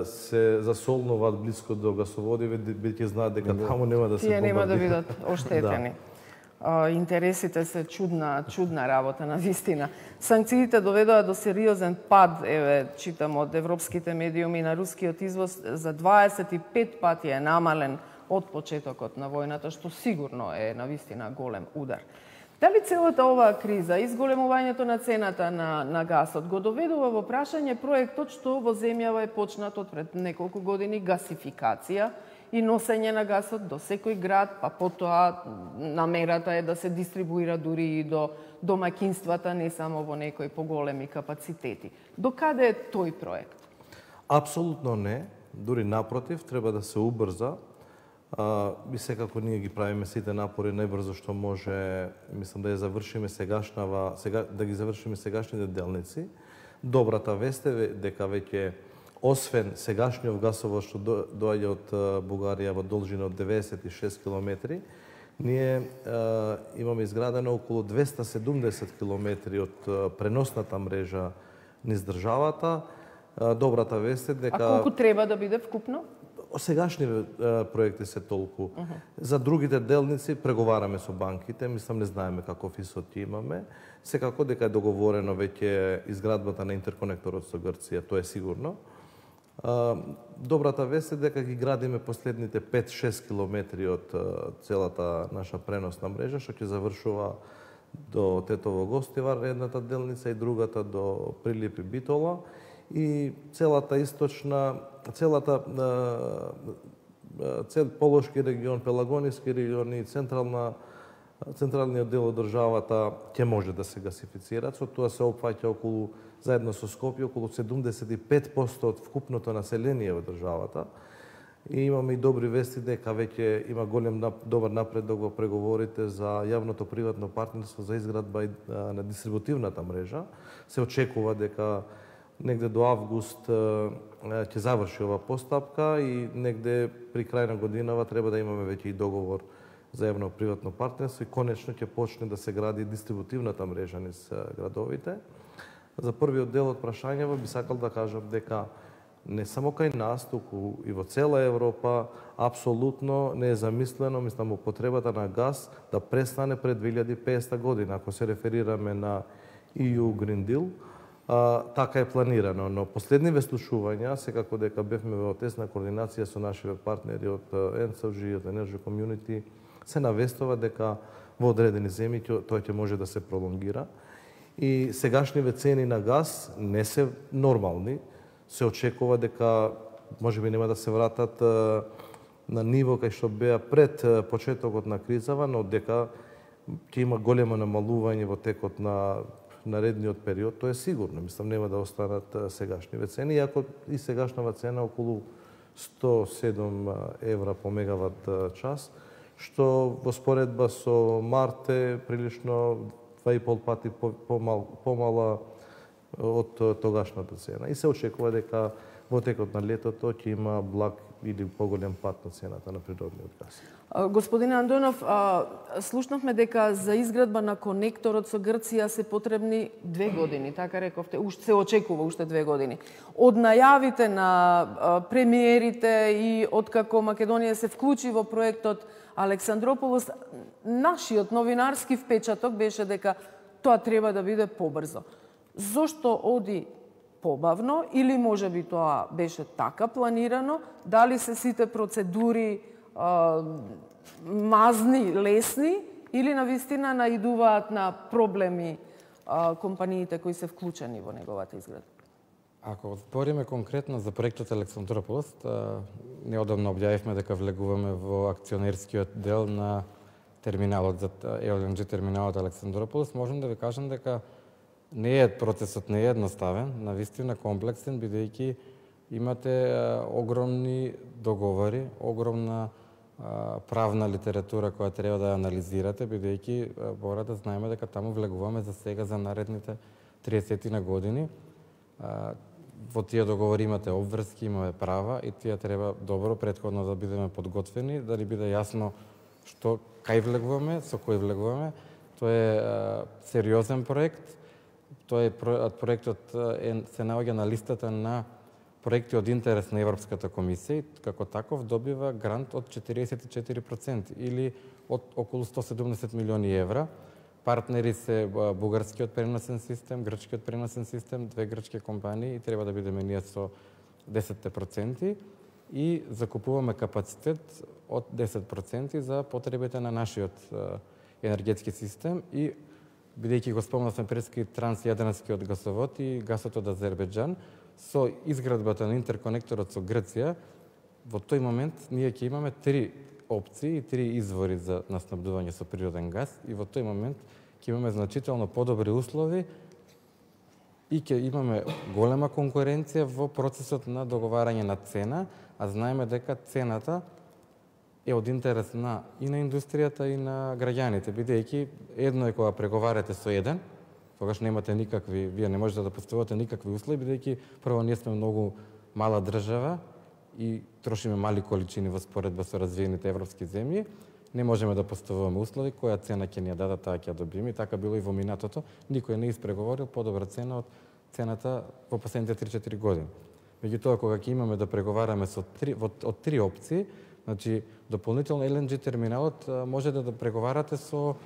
се засолнуваат блиско до гасоводи, бидејќи знаат дека таму нема да се
Тие нема да
бомбардираат.
бидат оштетени. Да. Интересите се чудна, чудна работа на вистина. Санкциите доведоа до сериозен пад, еве, читам од европските медиуми, на рускиот извоз за дваесет и пет пати е намален од почетокот на војната, што сигурно е на вистина голем удар. Дали целата оваа криза, изголемувањето на цената на, на гасот, го доведува во прашање проектот што во земјава е почнат од пред неколку години, гасификација и носење на гасот до секој град, па потоа намерата е да се дистрибуира дури и до домаќинствата, не само во некои поголеми капацитети. До каде е тој проект?
Апсолутно не, дури напротив, треба да се убрза. А, и секако ние ги правиме сите напори најбрзо што може, мислам да ја завршиме сегашнава, сега да ги завршиме сегашните делници. Добрата вест е дека веќе освен сегашниот гасовод што доаѓа од Бугарија во должина од деветдесет и шест километри, ние е, имаме изградено околу двесте и седумдесет километри од преносната мрежа низ државата. Добрата вест е дека...
А колку треба да биде вкупно?
Сегашни проекти се толку. Uh -huh. За другите делници преговараме со банките, мислам не знаеме каков исход ќе имаме. Секако дека е договорено веќе изградбата на интерконекторот со Грција, тоа е сигурно. Добрата вест е дека ги градиме последните пет-шест километри од целата наша преносна мрежа, што ќе завршува до Тетово Гостивар, едната делница, и другата до Прилип и Битола. И целата источна, целата цел Полошки регион, Пелагониски регион и централна централниот дел од државата ќе може да се гасифицираат. Со тоа се опфаќа околу, заедно со Скопје, околу седумдесет и пет проценти од вкупното население во државата. И имаме и добри вести дека веќе има голем добар напредок во преговорите за јавното приватно партнерство за изградба на дистрибутивната мрежа. Се очекува дека негде до август ќе заврши ова постапка и негде при крај на годинава треба да имаме веќе и договор за јавно-приватно партнерство и конечно ќе почне да се гради дистрибутивната мрежа низ градовите. За првиот дел од прашањето би сакал да кажам дека не само кај нас, туку и во цела Европа, апсолутно не е замислено, мислам, употребата на газ да престане пред две илјади и петдесета година, ако се реферираме на И Ю Green Deal. А, така е планирано, но последни веслушувања, секако дека бевме во тесна координација со нашите партнери од Ен Ес Ел Джи, од Energy Community, се навестува дека во одредени земји тој ќе може да се пролонгира. И сегашниве цени на газ не се нормални. Се очекува дека можеби нема да се вратат на ниво кај што беа пред почетокот на кризава, но дека ќе има големо намалување во текот на наредниот период, тоа е сигурно. Мислам, нема да останат сегашниве цени, иако и сегашнава цена околу сто и седум евра по мегават час, што во споредба со март е прилично два и пол пати помал, помала од тогашната цена. И се очекува дека во текот на летото ќе има благ или поголем пат на цената на природниот газ.
Господине Андонов, слушнавме дека за изградба на конекторот со Грција се потребни две години, така рековте, уште се очекува уште две години. Од најавите на премиерите и откако Македонија се вклучи во проектот Александрополос, нашиот новинарски впечаток беше дека тоа треба да биде побрзо. Зошто оди побавно или можеби тоа беше така планирано? Дали се сите процедури а, мазни, лесни или навистина наидуваат на проблеми а, компаниите кои се вклучени во неговата изградба?
Ако збориме конкретно за проектот Александрополос, неодамно објавивме дека влегуваме во акционерскиот дел на терминалот за Ел Ен Джи терминалот Александрополос. Можам да ви кажам дека не е процесот не е едноставен, навистина комплексен, бидејќи имате а, огромни договори, огромна а, правна литература која треба да анализирате, бидејќи мора да знаеме дека таму влегуваме за сега за наредните триесет на години. А, во тие договори имате обврски, имаме права и тие треба добро претходно да бидеме подготвени, да ни биде јасно што кај влегуваме, со кој влегуваме. Тоа е а, сериозен проект. Тоа е проектот е, се наоѓа на листата на проекти од интерес на Европската комисија и како таков добива грант од четириесет и четири проценти или од околу сто седумдесет милиони евра. Партнери се бугарскиот преносен систем, грчкиот преносен систем, две грчки компании и треба да бидеме ние со десет проценти и закупуваме капацитет од десет проценти за потребите на нашиот енергетски систем и бидејќи го спомнавме прески трансјадранскиот гасовод и гасот од Азербејџан, со изградбата на интерконекторот со Грција, во тој момент ние ќе имаме три опции и три извори за наснабдување со природен газ и во тој момент ќе имаме значително подобри услови и ќе имаме голема конкуренција во процесот на договарање на цена, а знаеме дека цената е од интерес на и на индустријата и на граѓаните, бидејќи едно е кога преговарате со еден, тогаш немате никакви, вие не можете да поставувате никакви услови, бидејќи прво ние сме многу мала држава и трошиме мали количини во споредба со развиените европски земји, не можеме да поставуваме услови, која цена ќе ни ја дадат, таа ќе ја добиеме. И така било и во минатото, никој не испреговорил подобра цена од цената во последните три-четири години. Меѓутоа, кога ќе имаме да преговараме со три, од три опции, значи, дополнително Ел Ен Джи терминалот може да, да преговарате со,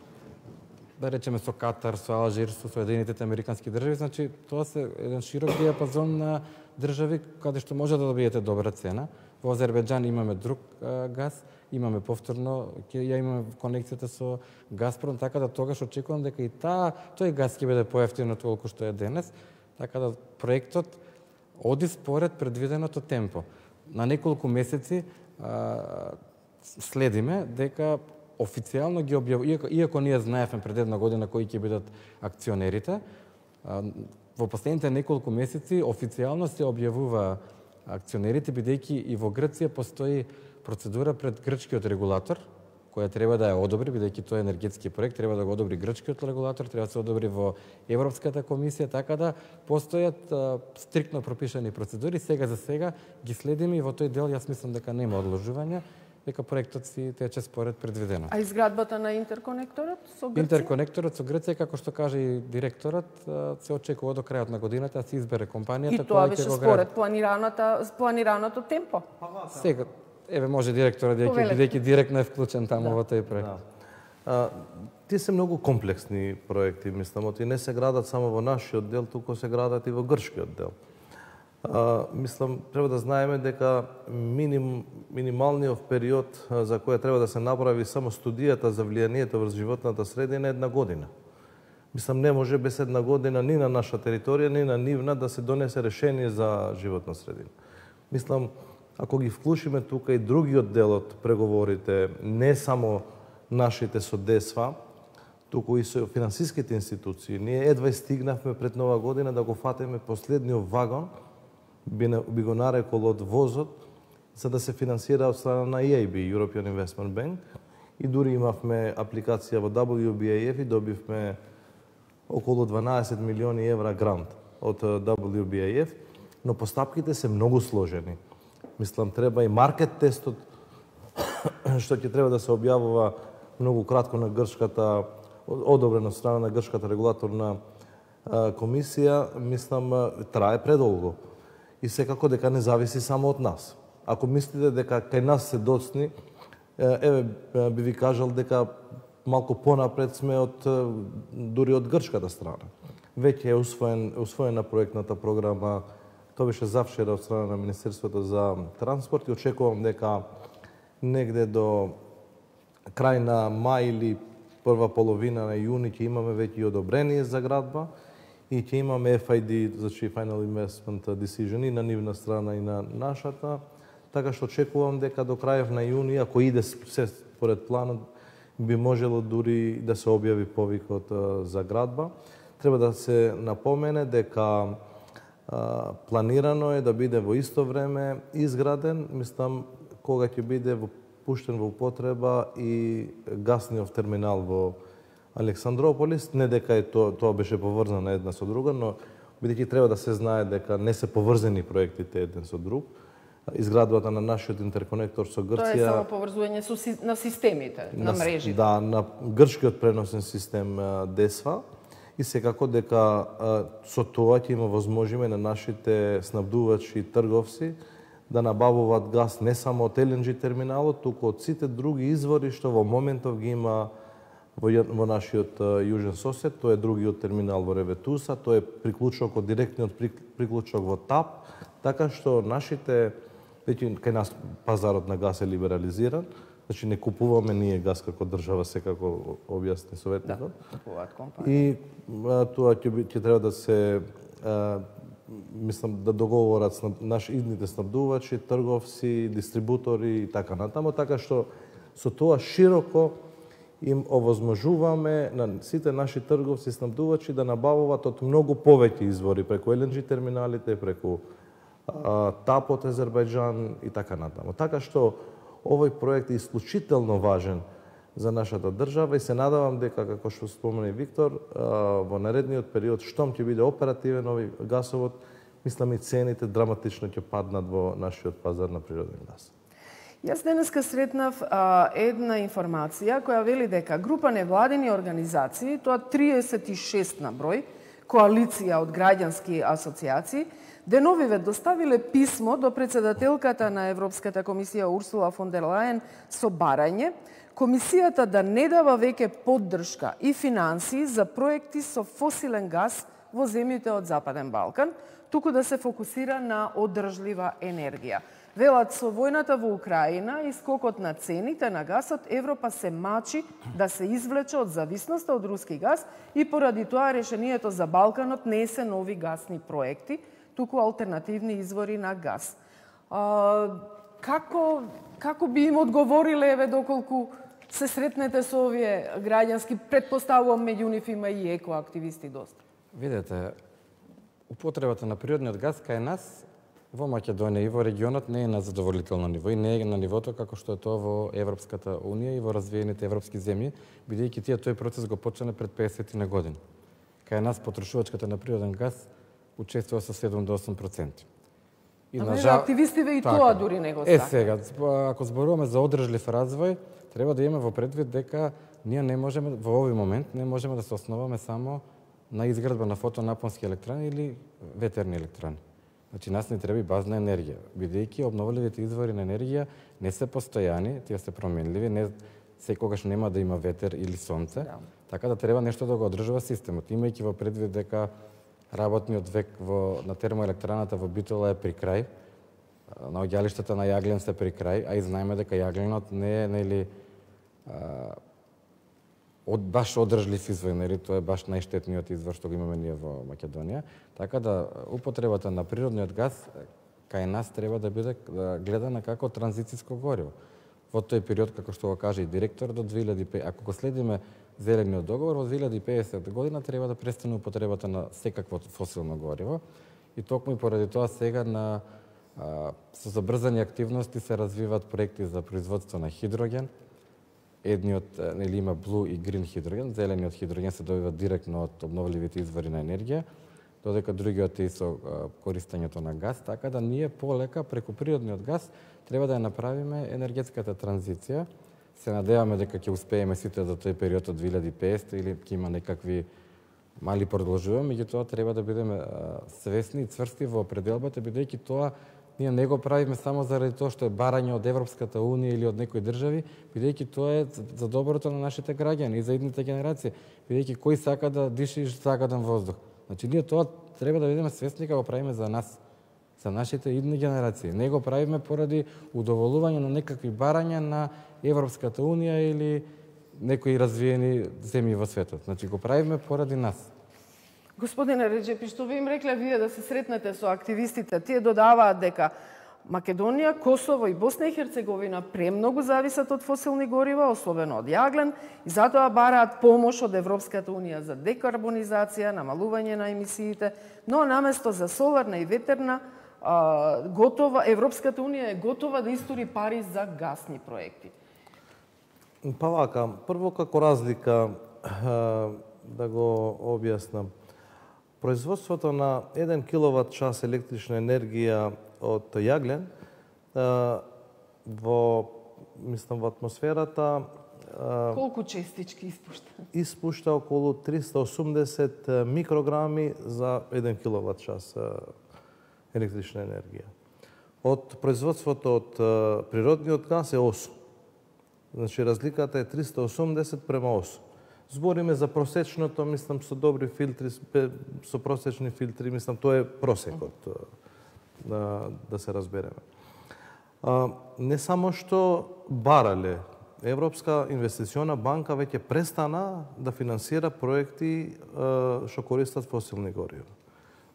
да речеме, со Катар, со Алжир, со Соединетите американски држави, значи, тоа се еден широк диапазон на држави каде што може да добиете добра цена. Во Азербејџан имаме друг а, газ, имаме повторно, ќе ја имаме конекцијата со Газпром, така да тогаш очекувам дека и таа, тој газ ќе биде поевтино толку што е денес, така да проектот оди според предвиденото темпо. На неколку месеци а, следиме дека официјално ги објавува, иако, иако ние знаевме пред една година кои ќе бидат акционерите, а, во последните неколку месеци официјално се објавува акционерите, бидејќи и во Грција постои процедура пред грчкиот регулатор, која треба да ја одобри, бидејќи тоа е енергетски проект, треба да го одобри грчкиот регулатор, треба да се одобри во Европската комисија, така да постојат а, стриктно пропишани процедури. Сега за сега ги следиме и во тој дел јас мислам дека нема одложување, дека проектот си тече според предвидено.
А изградбата на интерконекторот со Грција?
Интерконекторот со Грција, како што каже и директорот, се очекува до крајот на годината да се избере компанијата
и тоа
која
беше
ќе го
според
гради.
планираната планираното темпо.
Сега еве може директорот да ќе бидејќи директно е вклучен таму да. во тој проект. Да.
А, тие се многу комплексни проекти, мислам, и не се градат само во нашиот дел, туку се градат и во грчкиот дел. А, мислам, треба да знаеме дека миним, минималниот период за која треба да се направи само студијата за влијанието врз животната средина е една година. Мислам, не може без една година ни на наша територија, ни на нивна да се донесе решение за животна средина. Мислам, ако ги вклучиме тука и другиот дел од преговорите, не само нашите со ДЕСФА, туку и со финансиските институции, ние едва стигнавме пред нова година да го фатиме последниот вагон, би, би го нарекол од возот, за да се финансира од страна на И Еј Би, European Investment Bank, и дури имавме апликација во дабл ю Би Ей Еф и добивме околу дванаесет милиони евра грант од дабл ю Би Ей Еф, но постапките се многу сложени. Мислам, треба и маркет тестот, што ќе треба да се објавува многу кратко на грчката, одобрено од страна на грчката регулаторна комисија, мислам, трае предолго. И секако дека не зависи само од нас. Ако мислите дека кај нас се доцни, еве би ви кажал дека малку понапред сме од дури од грчката страна. Веќе е усвоен, усвоена проектната програма, тоа беше завчера од страна на Министерството за транспорт и очекувам дека негде до крај на мај или прва половина на јуни ќе имаме веќе одобрение за градба и ќе имаме Еф Ај Ди, значи Final Investment Decision, и на нивна страна и на нашата. Така што очекувам дека до крајов на јуни, ако иде се според планот, би можело дури да се објави повикот за градба. Треба да се напомене дека а, планирано е да биде во исто време изграден, мислам, кога ќе биде пуштен во употреба и гасниот терминал во Александрополис, не дека е тоа, тоа беше поврзано една со друга, но бидејќи треба да се знае дека не се поврзани проектите еден со друг, изградбата на нашиот интерконектор со Грција...
Тоа е само поврзување со, на системите, на, на мрежите.
Да, на грчкиот преносен систем ДЕСФА, и секако дека со тоа ќе има возможиме на нашите снабдувачи и трговци да набавуваат газ не само од Ел Ен Джи терминалот, туку од сите други извори што во моментов ги има во, во нашиот јужен сосед. Тоа е другиот терминал во Реветуса, тоа е приклучок од директниот приклучок во ТАП, така што нашите, веќе кај нас пазарот на газ е либерализиран, значи не купуваме ние газ како држава, секако објасни советникот.
Да, купуваат компании.
И а, тоа ќе, ќе треба да се а, мислам да договорат снаб, наши идните снабдувачи, трговци, дистрибутори и така натаму, така што со тоа широко им овозможуваме на сите наши трговци и снабдувачи да набавуваат од многу повеќе извори преку Ел Ен Джи терминалите, преку а, ТАП од Азербајџан и така натаму. Така што овој проект е исклучително важен за нашата држава и се надавам дека, како што спомена и Виктор, во наредниот период, штом ќе биде оперативен овој гасовод, мислам и цените драматично ќе паднат во нашиот пазар на природен газ.
Јас денеска сретнав а, една информација која вели дека група невладини организации, тоа триесет и шест на број, коалиција од граѓански асоциации, деновиве доставиле писмо до председателката на Европската комисија Урсула фон дер Лајен со барање Комисијата да не дава веќе поддршка и финансии за проекти со фосилен газ во земјите од Западен Балкан, туку да се фокусира на одржлива енергија. Велат, со војната во Украина и скокот на цените на гасот, Европа се мачи да се извлече од зависноста од руски газ и поради тоа решението за Балканот не се нови гасни проекти, туку алтернативни извори на газ. А, како, како би им одговориле, еве, доколку се сретнете со овие граѓански, предпоставувам меѓу нив има и екоактивисти доста?
Видете, употребата на природниот газ кај нас во Македонија и во регионот не е на задоволително ниво и не е на нивото како што е тоа во Европската унија и во развиените европски земји, бидејќи тие тој процес го почнале пред песет на години. Кај нас потрошувачката на природен газ учествува со седум до осум проценти.
И на жал... активистиве и така, тоа дури не го
сакаат. Е сега, ако зборуваме за одржлив развој, треба да имаме во предвид дека ние не можеме во овој момент не можеме да се основаме само на изградба на фотонапонски електрани или ветерни електрани. Значи, нас не треба и базна енергија, бидејќи обновливите извори на енергија не се постојани, тие се променливи, не секогаш нема да има ветер или сонце, да. Така да треба нешто да го одржува системот, имајќи во предвид дека работниот век во, на термоелектраната во Битола е при крај, на оѓалиштата на јаглен се при крај, а и знаеме дека јагленот не е, нели, а, од баш одржлив извор, нели, тоа е баш најштетниот извор што го имаме ние во Македонија, така да употребата на природниот газ кај нас треба да биде да гледана како транзициско гориво. Во тој период, како што го каже и директор, до две илјади и петдесет, ако го следиме зелениот договор, во две илјади и петдесета година треба да престане употребата на секакво фосилно гориво и токму и поради тоа сега на а, со забрзани активности се развиваат проекти за производство на хидроген. Едниот, нели, има blue и green хидроген, зелениот хидроген се добива директно од обновливите извори на енергија, додека другиот е со користењето на газ, така да ние полека преку природниот газ треба да ја направиме енергетската транзиција. Се надеваме дека ќе успееме сите за тој период од две илјади и петдесета или ќе има некакви мали продолжувања, меѓутоа треба да бидеме свесни и цврсти во определбата, бидејќи тоа ние не го правиме само заради тоа што е барање од Европската унија или од некои држави, бидејќи тоа е за доброто на нашите граѓани и за идните генерации, бидејќи кој сака да диши загаден воздух. Значи ние тоа треба да бидеме свесни кога го правиме за нас, за нашите идни генерации. Не го правиме поради удоволување на некакви барања на Европската унија или некои развиени земји во светот. Значи го правиме поради нас.
Господине Реджепи, што ви им рекле вие да се сретнете со активистите? Тие додаваат дека Македонија, Косово и Босна и Херцеговина премногу зависат од фосилни горива, особено од јаглен, и затоа бараат помош од Европската унија за декарбонизација, намалување на емисиите, но наместо за соларна и ветерна, а, готова, Европската унија е готова да истори пари за гасни проекти.
Па вака, прво како разлика, да го објаснам. Производството на еден киловат час електрична енергија од јаглен во, мислам, во атмосферата
колку честички испушта?
Испушта околу триста и осумдесет микрограми за еден киловат час електрична енергија. Од производството од природниот газ е осум. Значи разликата е триста и осумдесет према осум. Збориме за просечното, мислам, со добри филтри, со просечни филтри, мислам, тоа е просекот, да, да се разбереме. А, не само што барале, Европска инвестициона банка веќе престана да финансира проекти а, што користат фосилни горива.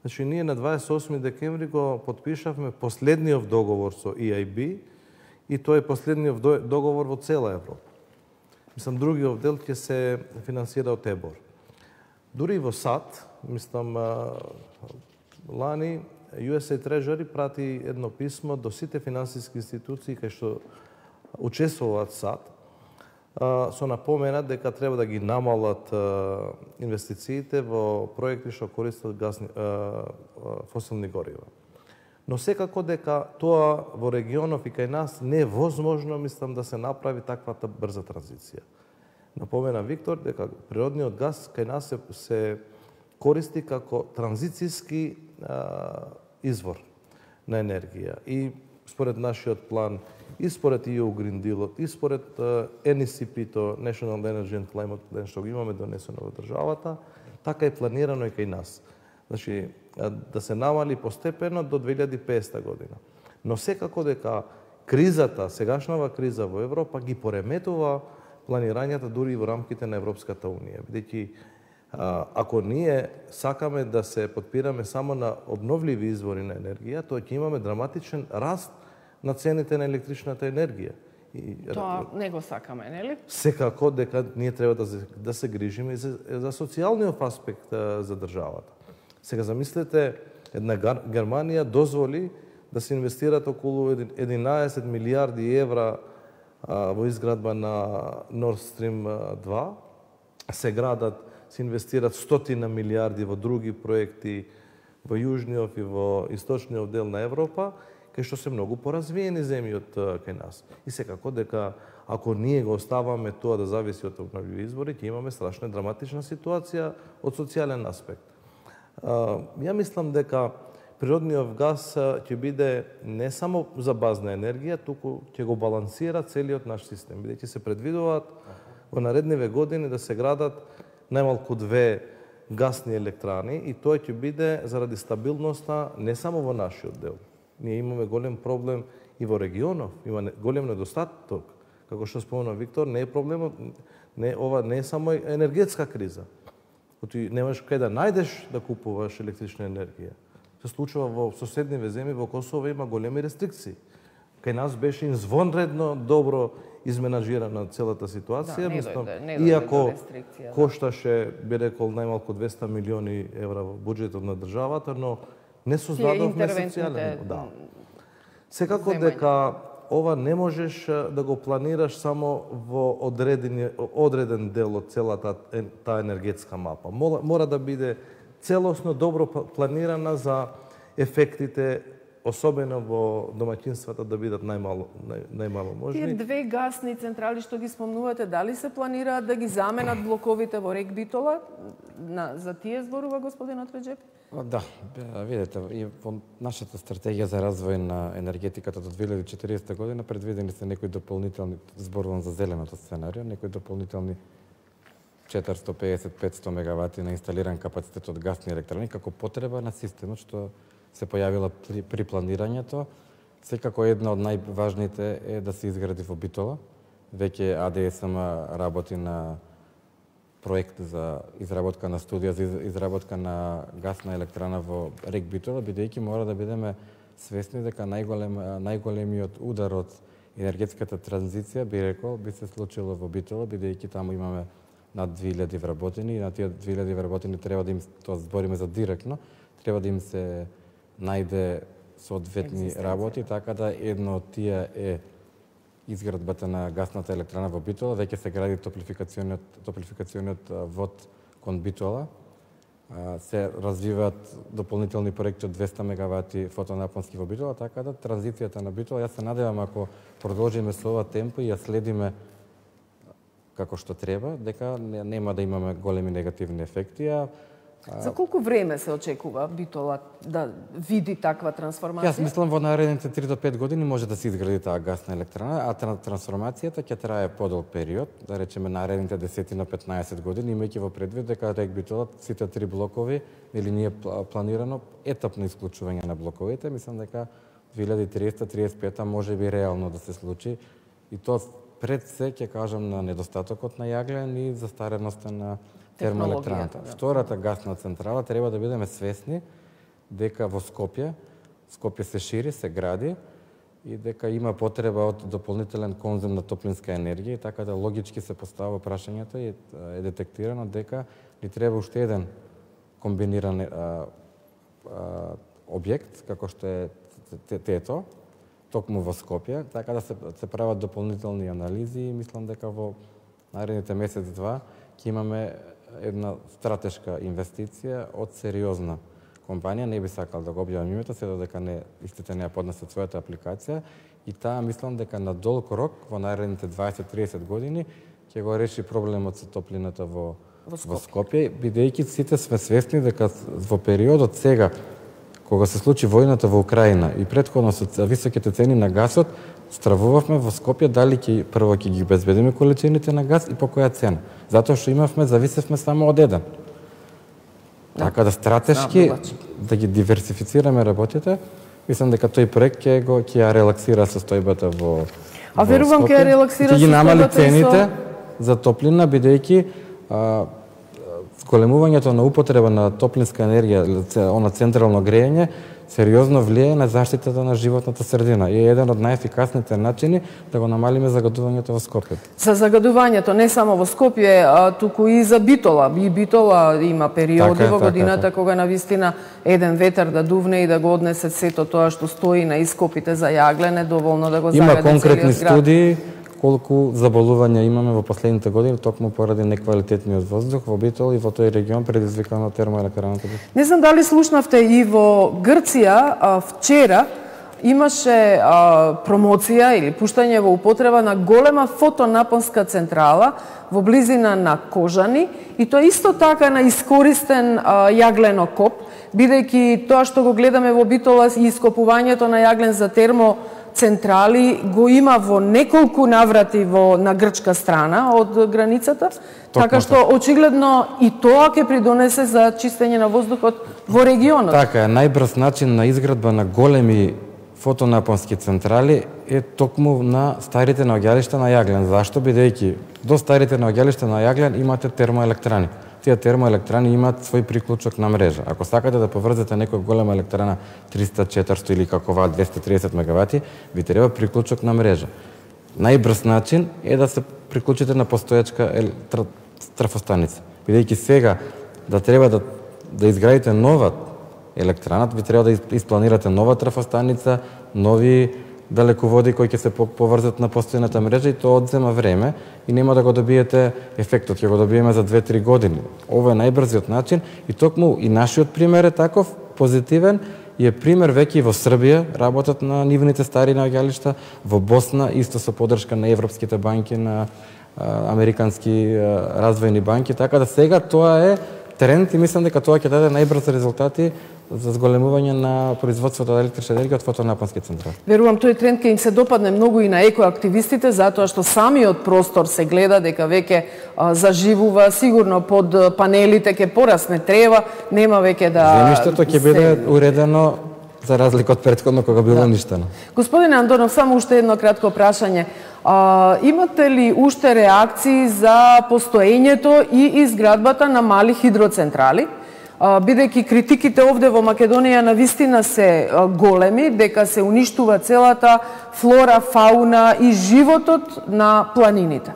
Значи, ние на дваесет и осми декември го подпишавме последниот договор со и ей би и тоа е последниот договор во цела Европа. Мислам, другиот дел ќе се финансира од ЕБОР. Дури во САД, мислам, лани, ю ес ей Treasury прати едно писмо до сите финансиски институции кај што учествуваат САД, со напомена дека треба да ги намалат инвестициите во проекти што користат газни, фосилни горива. Но секако дека тоа во регионов и кај нас не е возможно, мислам, да се направи таквата брза транзиција. Напомена Виктор дека природниот газ кај нас се, се користи како транзицијски а, извор на енергија. И според нашиот план, и според и ю Green Deal, и според ен и си пи-то, National Energy and Climate Plan, што го имаме донесено во државата, така е планирано и кај нас. Значи, да се намали постепено до две илјади и петдесета година. Но секако дека кризата, сегашнава криза во Европа ги пореметува планирањата дури и во рамките на Европската унија. Бидејќи ако ние сакаме да се подпираме само на обновливи извори на енергија, тоа ќе имаме драматичен раст на цените на електричната енергија.
И, тоа не го сакаме, нели?
Секако дека ние треба да, да се грижиме и за, за социјалниот аспект за државата. Сега замислете, една Германија дозволи да се инвестират околу единаесет милијарди евра во изградба на Nord Stream два, се градат, се инвестират стотина милијарди во други проекти во јужниот и во источниот дел на Европа, кај што се многу поразвиени земји од кај нас. И секако дека ако ние го оставаме тоа да зависи од обновливи извори, ќе имаме страшна драматична ситуација од социјален аспект. Ја мислам дека природниот газ ќе биде не само за базна енергија, туку ќе го балансира целиот наш систем, бидејќи се предвидуваат во наредниве години да се градат најмалку две гасни електрани и тоа ќе биде заради стабилноста не само во нашиот дел. Ние имаме голем проблем и во регионов, има голем недостаток. Како што спомена Виктор, не е проблемот, не ова не е само енергетска криза. Оти немаш кај да најдеш да купуваш електрична енергија. Се случува во соседниве земји, во Косово има големи рестрикции. Кај нас беше извонредно добро изменаџирана целата ситуација,
да,
мислам,
не
иако кошташе, би рекол, најмалку двесте милиони евра во буџетот на државата, но не создадовме социјален. Да. Секако дека ова не можеш да го планираш само во одреден, одреден дел од целата таа енергетска мапа. Мора, мора да биде целосно добро планирана за ефектите, особено во домаќинствата, да бидат најмало, нај, најмало можни.
Тие две гасни централи што ги спомнувате, дали се планираат да ги заменат блоковите во Рек Битола? На, за тие зборува господинот Реджеп?
Да, видете, и во нашата стратегија за развој на енергетиката до две илјади и четиридесета година предвидени се некои дополнителни, зборувам за зеленото сценарио, некои дополнителни четиристо песет до петстотини мегавати на инсталиран капацитет од гасни електрани како потреба на системот што се појавила при, при планирањето. Секако една од најважните е да се изгради во Битола. Веќе А Д С М работи на проект за изработка на студија за изработка на гасна електрана во Рек Битола, бидејќи мора да бидеме свесни дека најголем, најголемиот удар од енергетската транзиција, би рекол, би се случило во Битола, бидејќи таму имаме над две илјади вработени и на тие две илјади вработени треба да им, тоа збориме за директно, треба да им се најде соодветни работи, така да едно од тие е изградбата на гасната електрана во Битола. Веќе се гради топлификациониот, топлификациониот вод кон Битола. Се развиваат дополнителни проекти од двесте мегавати фотонапонски во Битола, така да транзицијата на Битола, јас се надевам ако продолжиме со ова темпо и ја следиме како што треба, дека нема да имаме големи негативни ефекти. А
за колку време се очекува Битола да види таква трансформација?
Јас мислам во наредните три до пет години може да се изгради таа гасна електрана, а трансформацијата ќе трае подолг период, да речеме наредните десет до петнаесет години, имајќи во предвид дека Рек Битола сите три блокови или ние планирано етапно исклучување на блоковите, мислам дека две илјади и триесета до триесет и пета може би реално да се случи и тоа пред се ќе кажам на недостатокот на јаглен и застареноста на термоелектраната. Да. Втората гасна централа треба да бидеме свесни дека во Скопје, Скопје се шири, се гради и дека има потреба од дополнителен конзум на топлинска енергија и така да логички се поставува прашањето и е детектирано дека ни треба уште еден комбиниран а, а, објект како што е ТЕТО, токму во Скопје, така да се, се прават дополнителни анализи и мислам дека во наредните месец-два ќе имаме една стратешка инвестиција од сериозна компанија, не би сакал да го објавам името, се додека не истите не ја поднесат својата апликација и таа мислам дека на долг рок во наредните дваесет до триесет години ќе го реши проблемот со топлината во во Скопје, во Скопје бидејќи сите сме свесни дека во периодот сега кога се случи војната во Украина и претходно со високите цени на гасот, стравувавме во Скопје дали ќе прво ќе ги обезбедиме количините на газ и по која цена. Затоа што имавме, зависевме само од еден. Да. Така да стратешки да ги диверсифицираме работите, мислам дека тој проект ќе го ќе ја релаксира состојбата во
А верувам ќе ја релаксира
состојбата. Ќе ги намали цените со... за топлина бидејќи зголемувањето на употреба на топлинска енергија, она централно грејење, сериозно влијае на заштитата на животната средина и е еден од најефикасните начини да го намалиме загадувањето во Скопје.
За загадувањето не само во Скопје, а туку и за Битола. И Битола има периоди така, во годината така, кога навистина еден ветер да дувне и да го однесе сето тоа што стои на ископите за јаглен, е доволно да го загади целиот град.
Има конкретни студии колку заболувања имаме во последните години токму поради неквалитетниот воздух во Битол и во тој регион предизвикан од термоелектраната.
Не знам дали слушнавте и во Грција а, вчера имаше а, промоција или пуштање во употреба на голема фотонапонска централа во близина на Кожани и тоа исто така на искористен а, јагленокоп, бидејќи тоа што го гледаме во Битола и ископувањето на јаглен за термо централи го има во неколку наврати во на грчка страна од границата, Токно, така што очигледно и тоа ќе придонесе за чистење на воздухот во регионот.
Така е, најбрз начин на изградба на големи фотонапонски централи е токму на старите наоѓалишта на јаглен. Зашто? Бидејќи до старите наоѓалишта на јаглен имате термоелектрани. Тие термоелектрани имаат свој приклучок на мрежа. Ако сакате да поврзете некоја голема електрана триста четиристо или како ова двесте триесет мегавати, ви треба приклучок на мрежа. Најбрз начин е да се приклучите на постоечка трафостаница. Бидејќи сега да треба да, да изградите нова електранат, ви треба да испланирате нова трафостаница, нови далеководи кои ќе се поврзат на постојната мрежа и тоа одзема време и нема да го добиете ефектот, ќе го добиеме за две-три години. Ова е најбрзиот начин и токму и нашиот пример е таков, позитивен, и е пример веќе и во Србија, работат на нивните стари наоѓалишта, во Босна исто со поддршка на европските банки, на а, американски а, развојни банки, така да сега тоа е тренд и мислам дека тоа ќе даде најбрзи резултати за зголемување на производството на електрична енергија од фотонапонски централи.
Верувам тој тренд ќе им се допадне многу и на екоактивистите, затоа што самиот простор се гледа дека веќе а, заживува, сигурно под панелите ќе порасне трева, нема веќе да
земјиштето ќе биде уредено за разлика од претходно кога било да. Ништено.
Господине Андонов, само уште едно кратко прашање. А, имате ли уште реакции за постоењето и изградбата на мали хидроцентрали? Бидејќи критиките овде во Македонија навистина се големи, дека се уништува целата флора, фауна и животот на планините.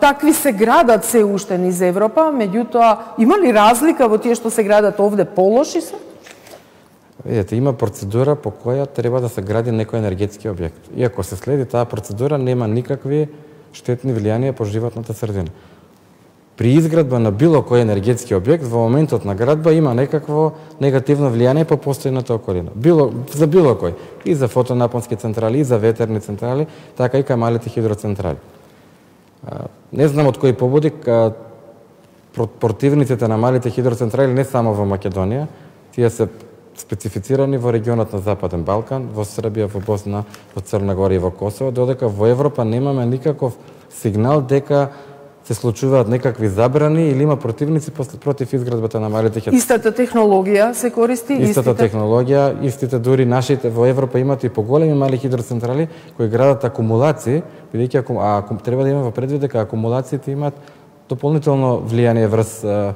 Такви се градат се уште низ Европа, меѓутоа има ли разлика во тие што се градат овде, полоши се?
Видете, има процедура по која треба да се гради некој енергетски објект. И ако се следи таа процедура, нема никакви штетни влијанија по животната средина. При изградба на било кој енергетски објект, во моментот на градба има некакво негативно влијание по постојната околина. Било, за било кој. И за фотонапонски централи, и за ветерни централи, така и кај малите хидроцентрали. Не знам од кои побуди, противниците на малите хидроцентрали не само во Македонија, тие се специфицирани во регионот на Западен Балкан, во Србија, во Босна, во Црна Гора и во Косово, додека во Европа немаме никаков сигнал дека се случуваат некакви забрани или има противници против изградбата на малите хидроцентрали.
Истата технологија се користи?
Истата истите... технологија, истите дури нашите во Европа имат и поголеми мали хидроцентрали кои градат акумулации, бидејќи аку... а, треба да имаме во предвид дека акумулациите имаат дополнително влијание врз а,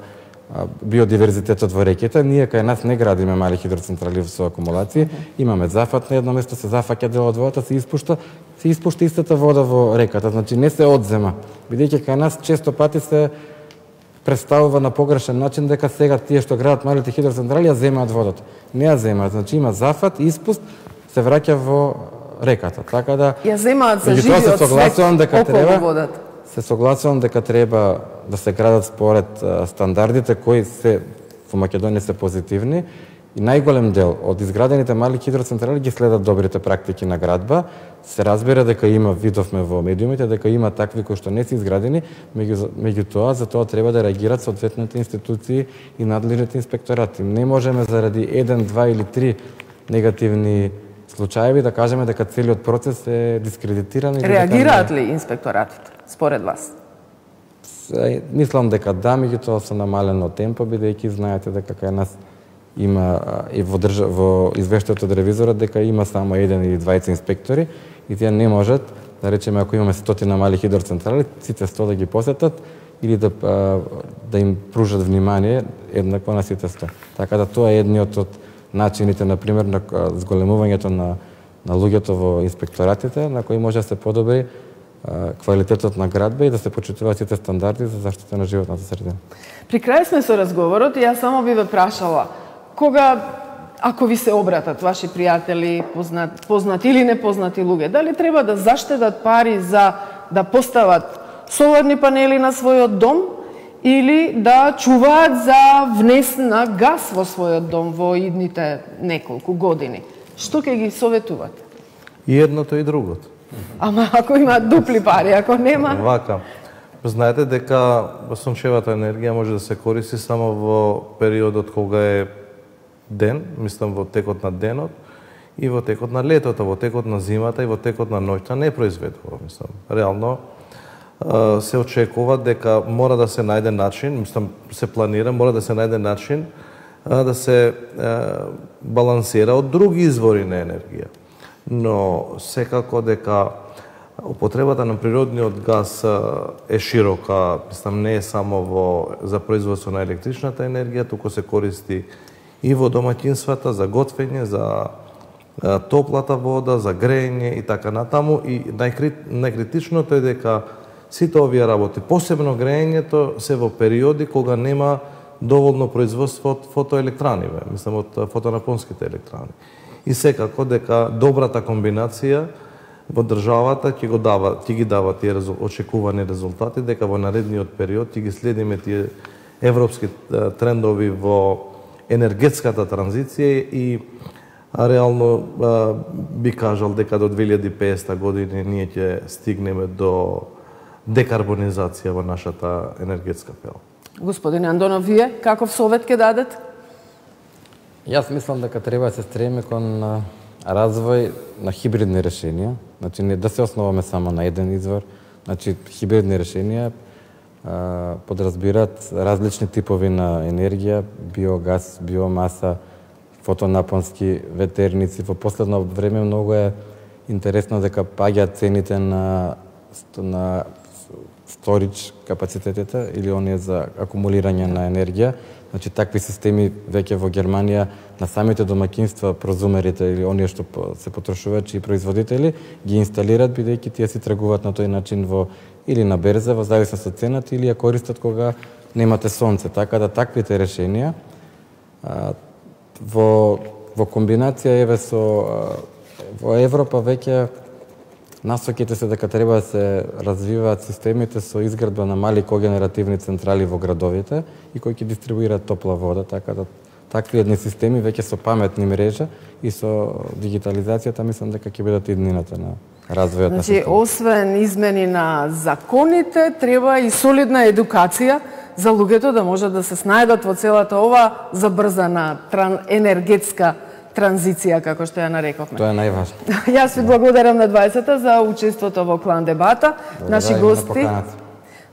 а, биодиверзитетот во реките. Ние кај нас не градиме мали хидроцентрали со акумулации, имаме зафат на едно место, се зафаќа дел од водата, се испушта се испушта истата вода во реката, значи не се одзема. Бидејќи кај нас често пати се представува на погрешен начин дека сега тие што градат малите хидроцентрали ја земаат водата. Не ја земаат, значи има зафат, испуст, се враќа во реката. Така да
ја земаат за живиот свет околу водата.
Се согласувам дека треба да се градат според стандардите кои се во Македонија се позитивни. И најголем дел од изградените мали хидроцентрали ги следат добрите практики на градба. Се разбира дека има, видовме во медиумите, дека има такви кои што не се изградени, меѓу, меѓу тоа, за тоа треба да реагираат соодветните институции и надлежните инспекторати. Не можеме заради еден, два или три негативни случаеви да кажеме дека целиот процес е дискредитиран.
Реагираат ли инспекторатите, според вас?
Мислам дека да, меѓутоа со намалено темпо, бидејќи знаете дека кај нас има и во, држа, во извештајот од ревизорот дека има само еден или двајца инспектори и тие не можат, да речеме ако имаме стотина мали хидроцентрали, сите сто да ги посетат или да, да им пружат внимание еднакво на сите сто. Така да тоа е едниот од начините, например, на зголемувањето на, на луѓето во инспекторатите, на кои може да се подобри квалитетот на градба и да се почитуваат сите стандарди за заштита на животната средина.
При крај сме со разговорот и јас само би ве прашала, кога, ако ви се обратат ваши пријатели, познат, познати или непознати луѓе, дали треба да заштедат пари за да постават соларни панели на својот дом или да чуваат за внес на газ во својот дом во идните неколку години? Што ќе ги советувате?
И едното и другото.
Ама ако има дупли пари, ако нема...
Вака. Знаете дека сончевата енергија може да се користи само во периодот кога е ден, мислам во текот на денот, и во текот на летото, во текот на зимата и во текот на ноќта не произведува, мислам. Реално се очекува дека мора да се најде начин, мислам, се планира, мора да се најде начин да се балансира од други извори на енергија. Но секако дека употребата на природниот газ е широка, мислам, не е само во за производство на електричната енергија, туку се користи и во домаќинствата за готвење, за топлата вода, за грејење и така натаму. И најкритичното е дека сите овие работи, посебно грејењето, се во периоди кога нема доволно производство од фотоелектрани, мислам, од фотонапонските електрани. И секако дека добрата комбинација во државата ќе го дава, ќе ги дава тие очекувани резултати, дека во наредниот период ќе ги следиме тие европски трендови во енергетската транзиција и реално би кажал дека до две илјади и песета година ние ќе стигнеме до декарбонизација во нашата енергетска пела.
Господин Андонов, вие каков совет ќе дадете?
Јас мислам дека треба да се стремиме кон развој на хибридни решенија, значи не да се основаме само на еден извор, значи хибридни решенија а, подразбираат различни типови на енергија, биогаз, биомаса, фотонапонски ветерници. Во последно време многу е интересно дека паѓаат цените на на сторич капацитетите или оние за акумулирање на енергија. Значи, такви системи веќе во Германија на самите домаќинства, прозумерите или оние што се потрошувачи и производители ги инсталираат, бидејќи тие си тргуваат на тој начин во или на берза, во зависност од цената, или ја користат кога немате сонце. Така да таквите решенија а, во во комбинација еве со во Европа веќе насоките се дека треба да се развиваат системите со изградба на мали когенеративни централи во градовите и кои ќе дистрибуираат топла вода, така да такви едни системи веќе со паметни мрежа и со дигитализацијата мислам дека ќе бидат иднината на развојот на
Значи, освен измени на законите, треба и солидна едукација за луѓето да можат да се снајдат во целата ова забрзана тран... енергетска транзиција, како што ја нарековме.
Тоа е најважно.
Јас ви благодарам на дваесета за учеството во Клан дебата. Наши гости,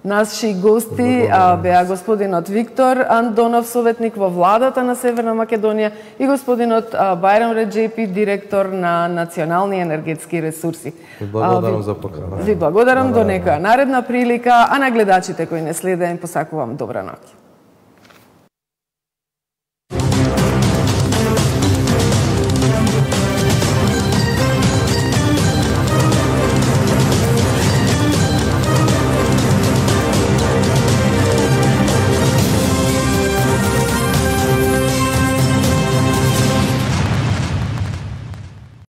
наши гости а, беа господинот Виктор Андонов, советник во владата на Северна Македонија, и господинот а, Бајрам Реджепи, директор на Национални енергетски ресурси.
Ви благодарам а, за покана.
Ви благодарам, до некоја наредна прилика, а на гледачите кои не следеа им посакувам добра ноќ.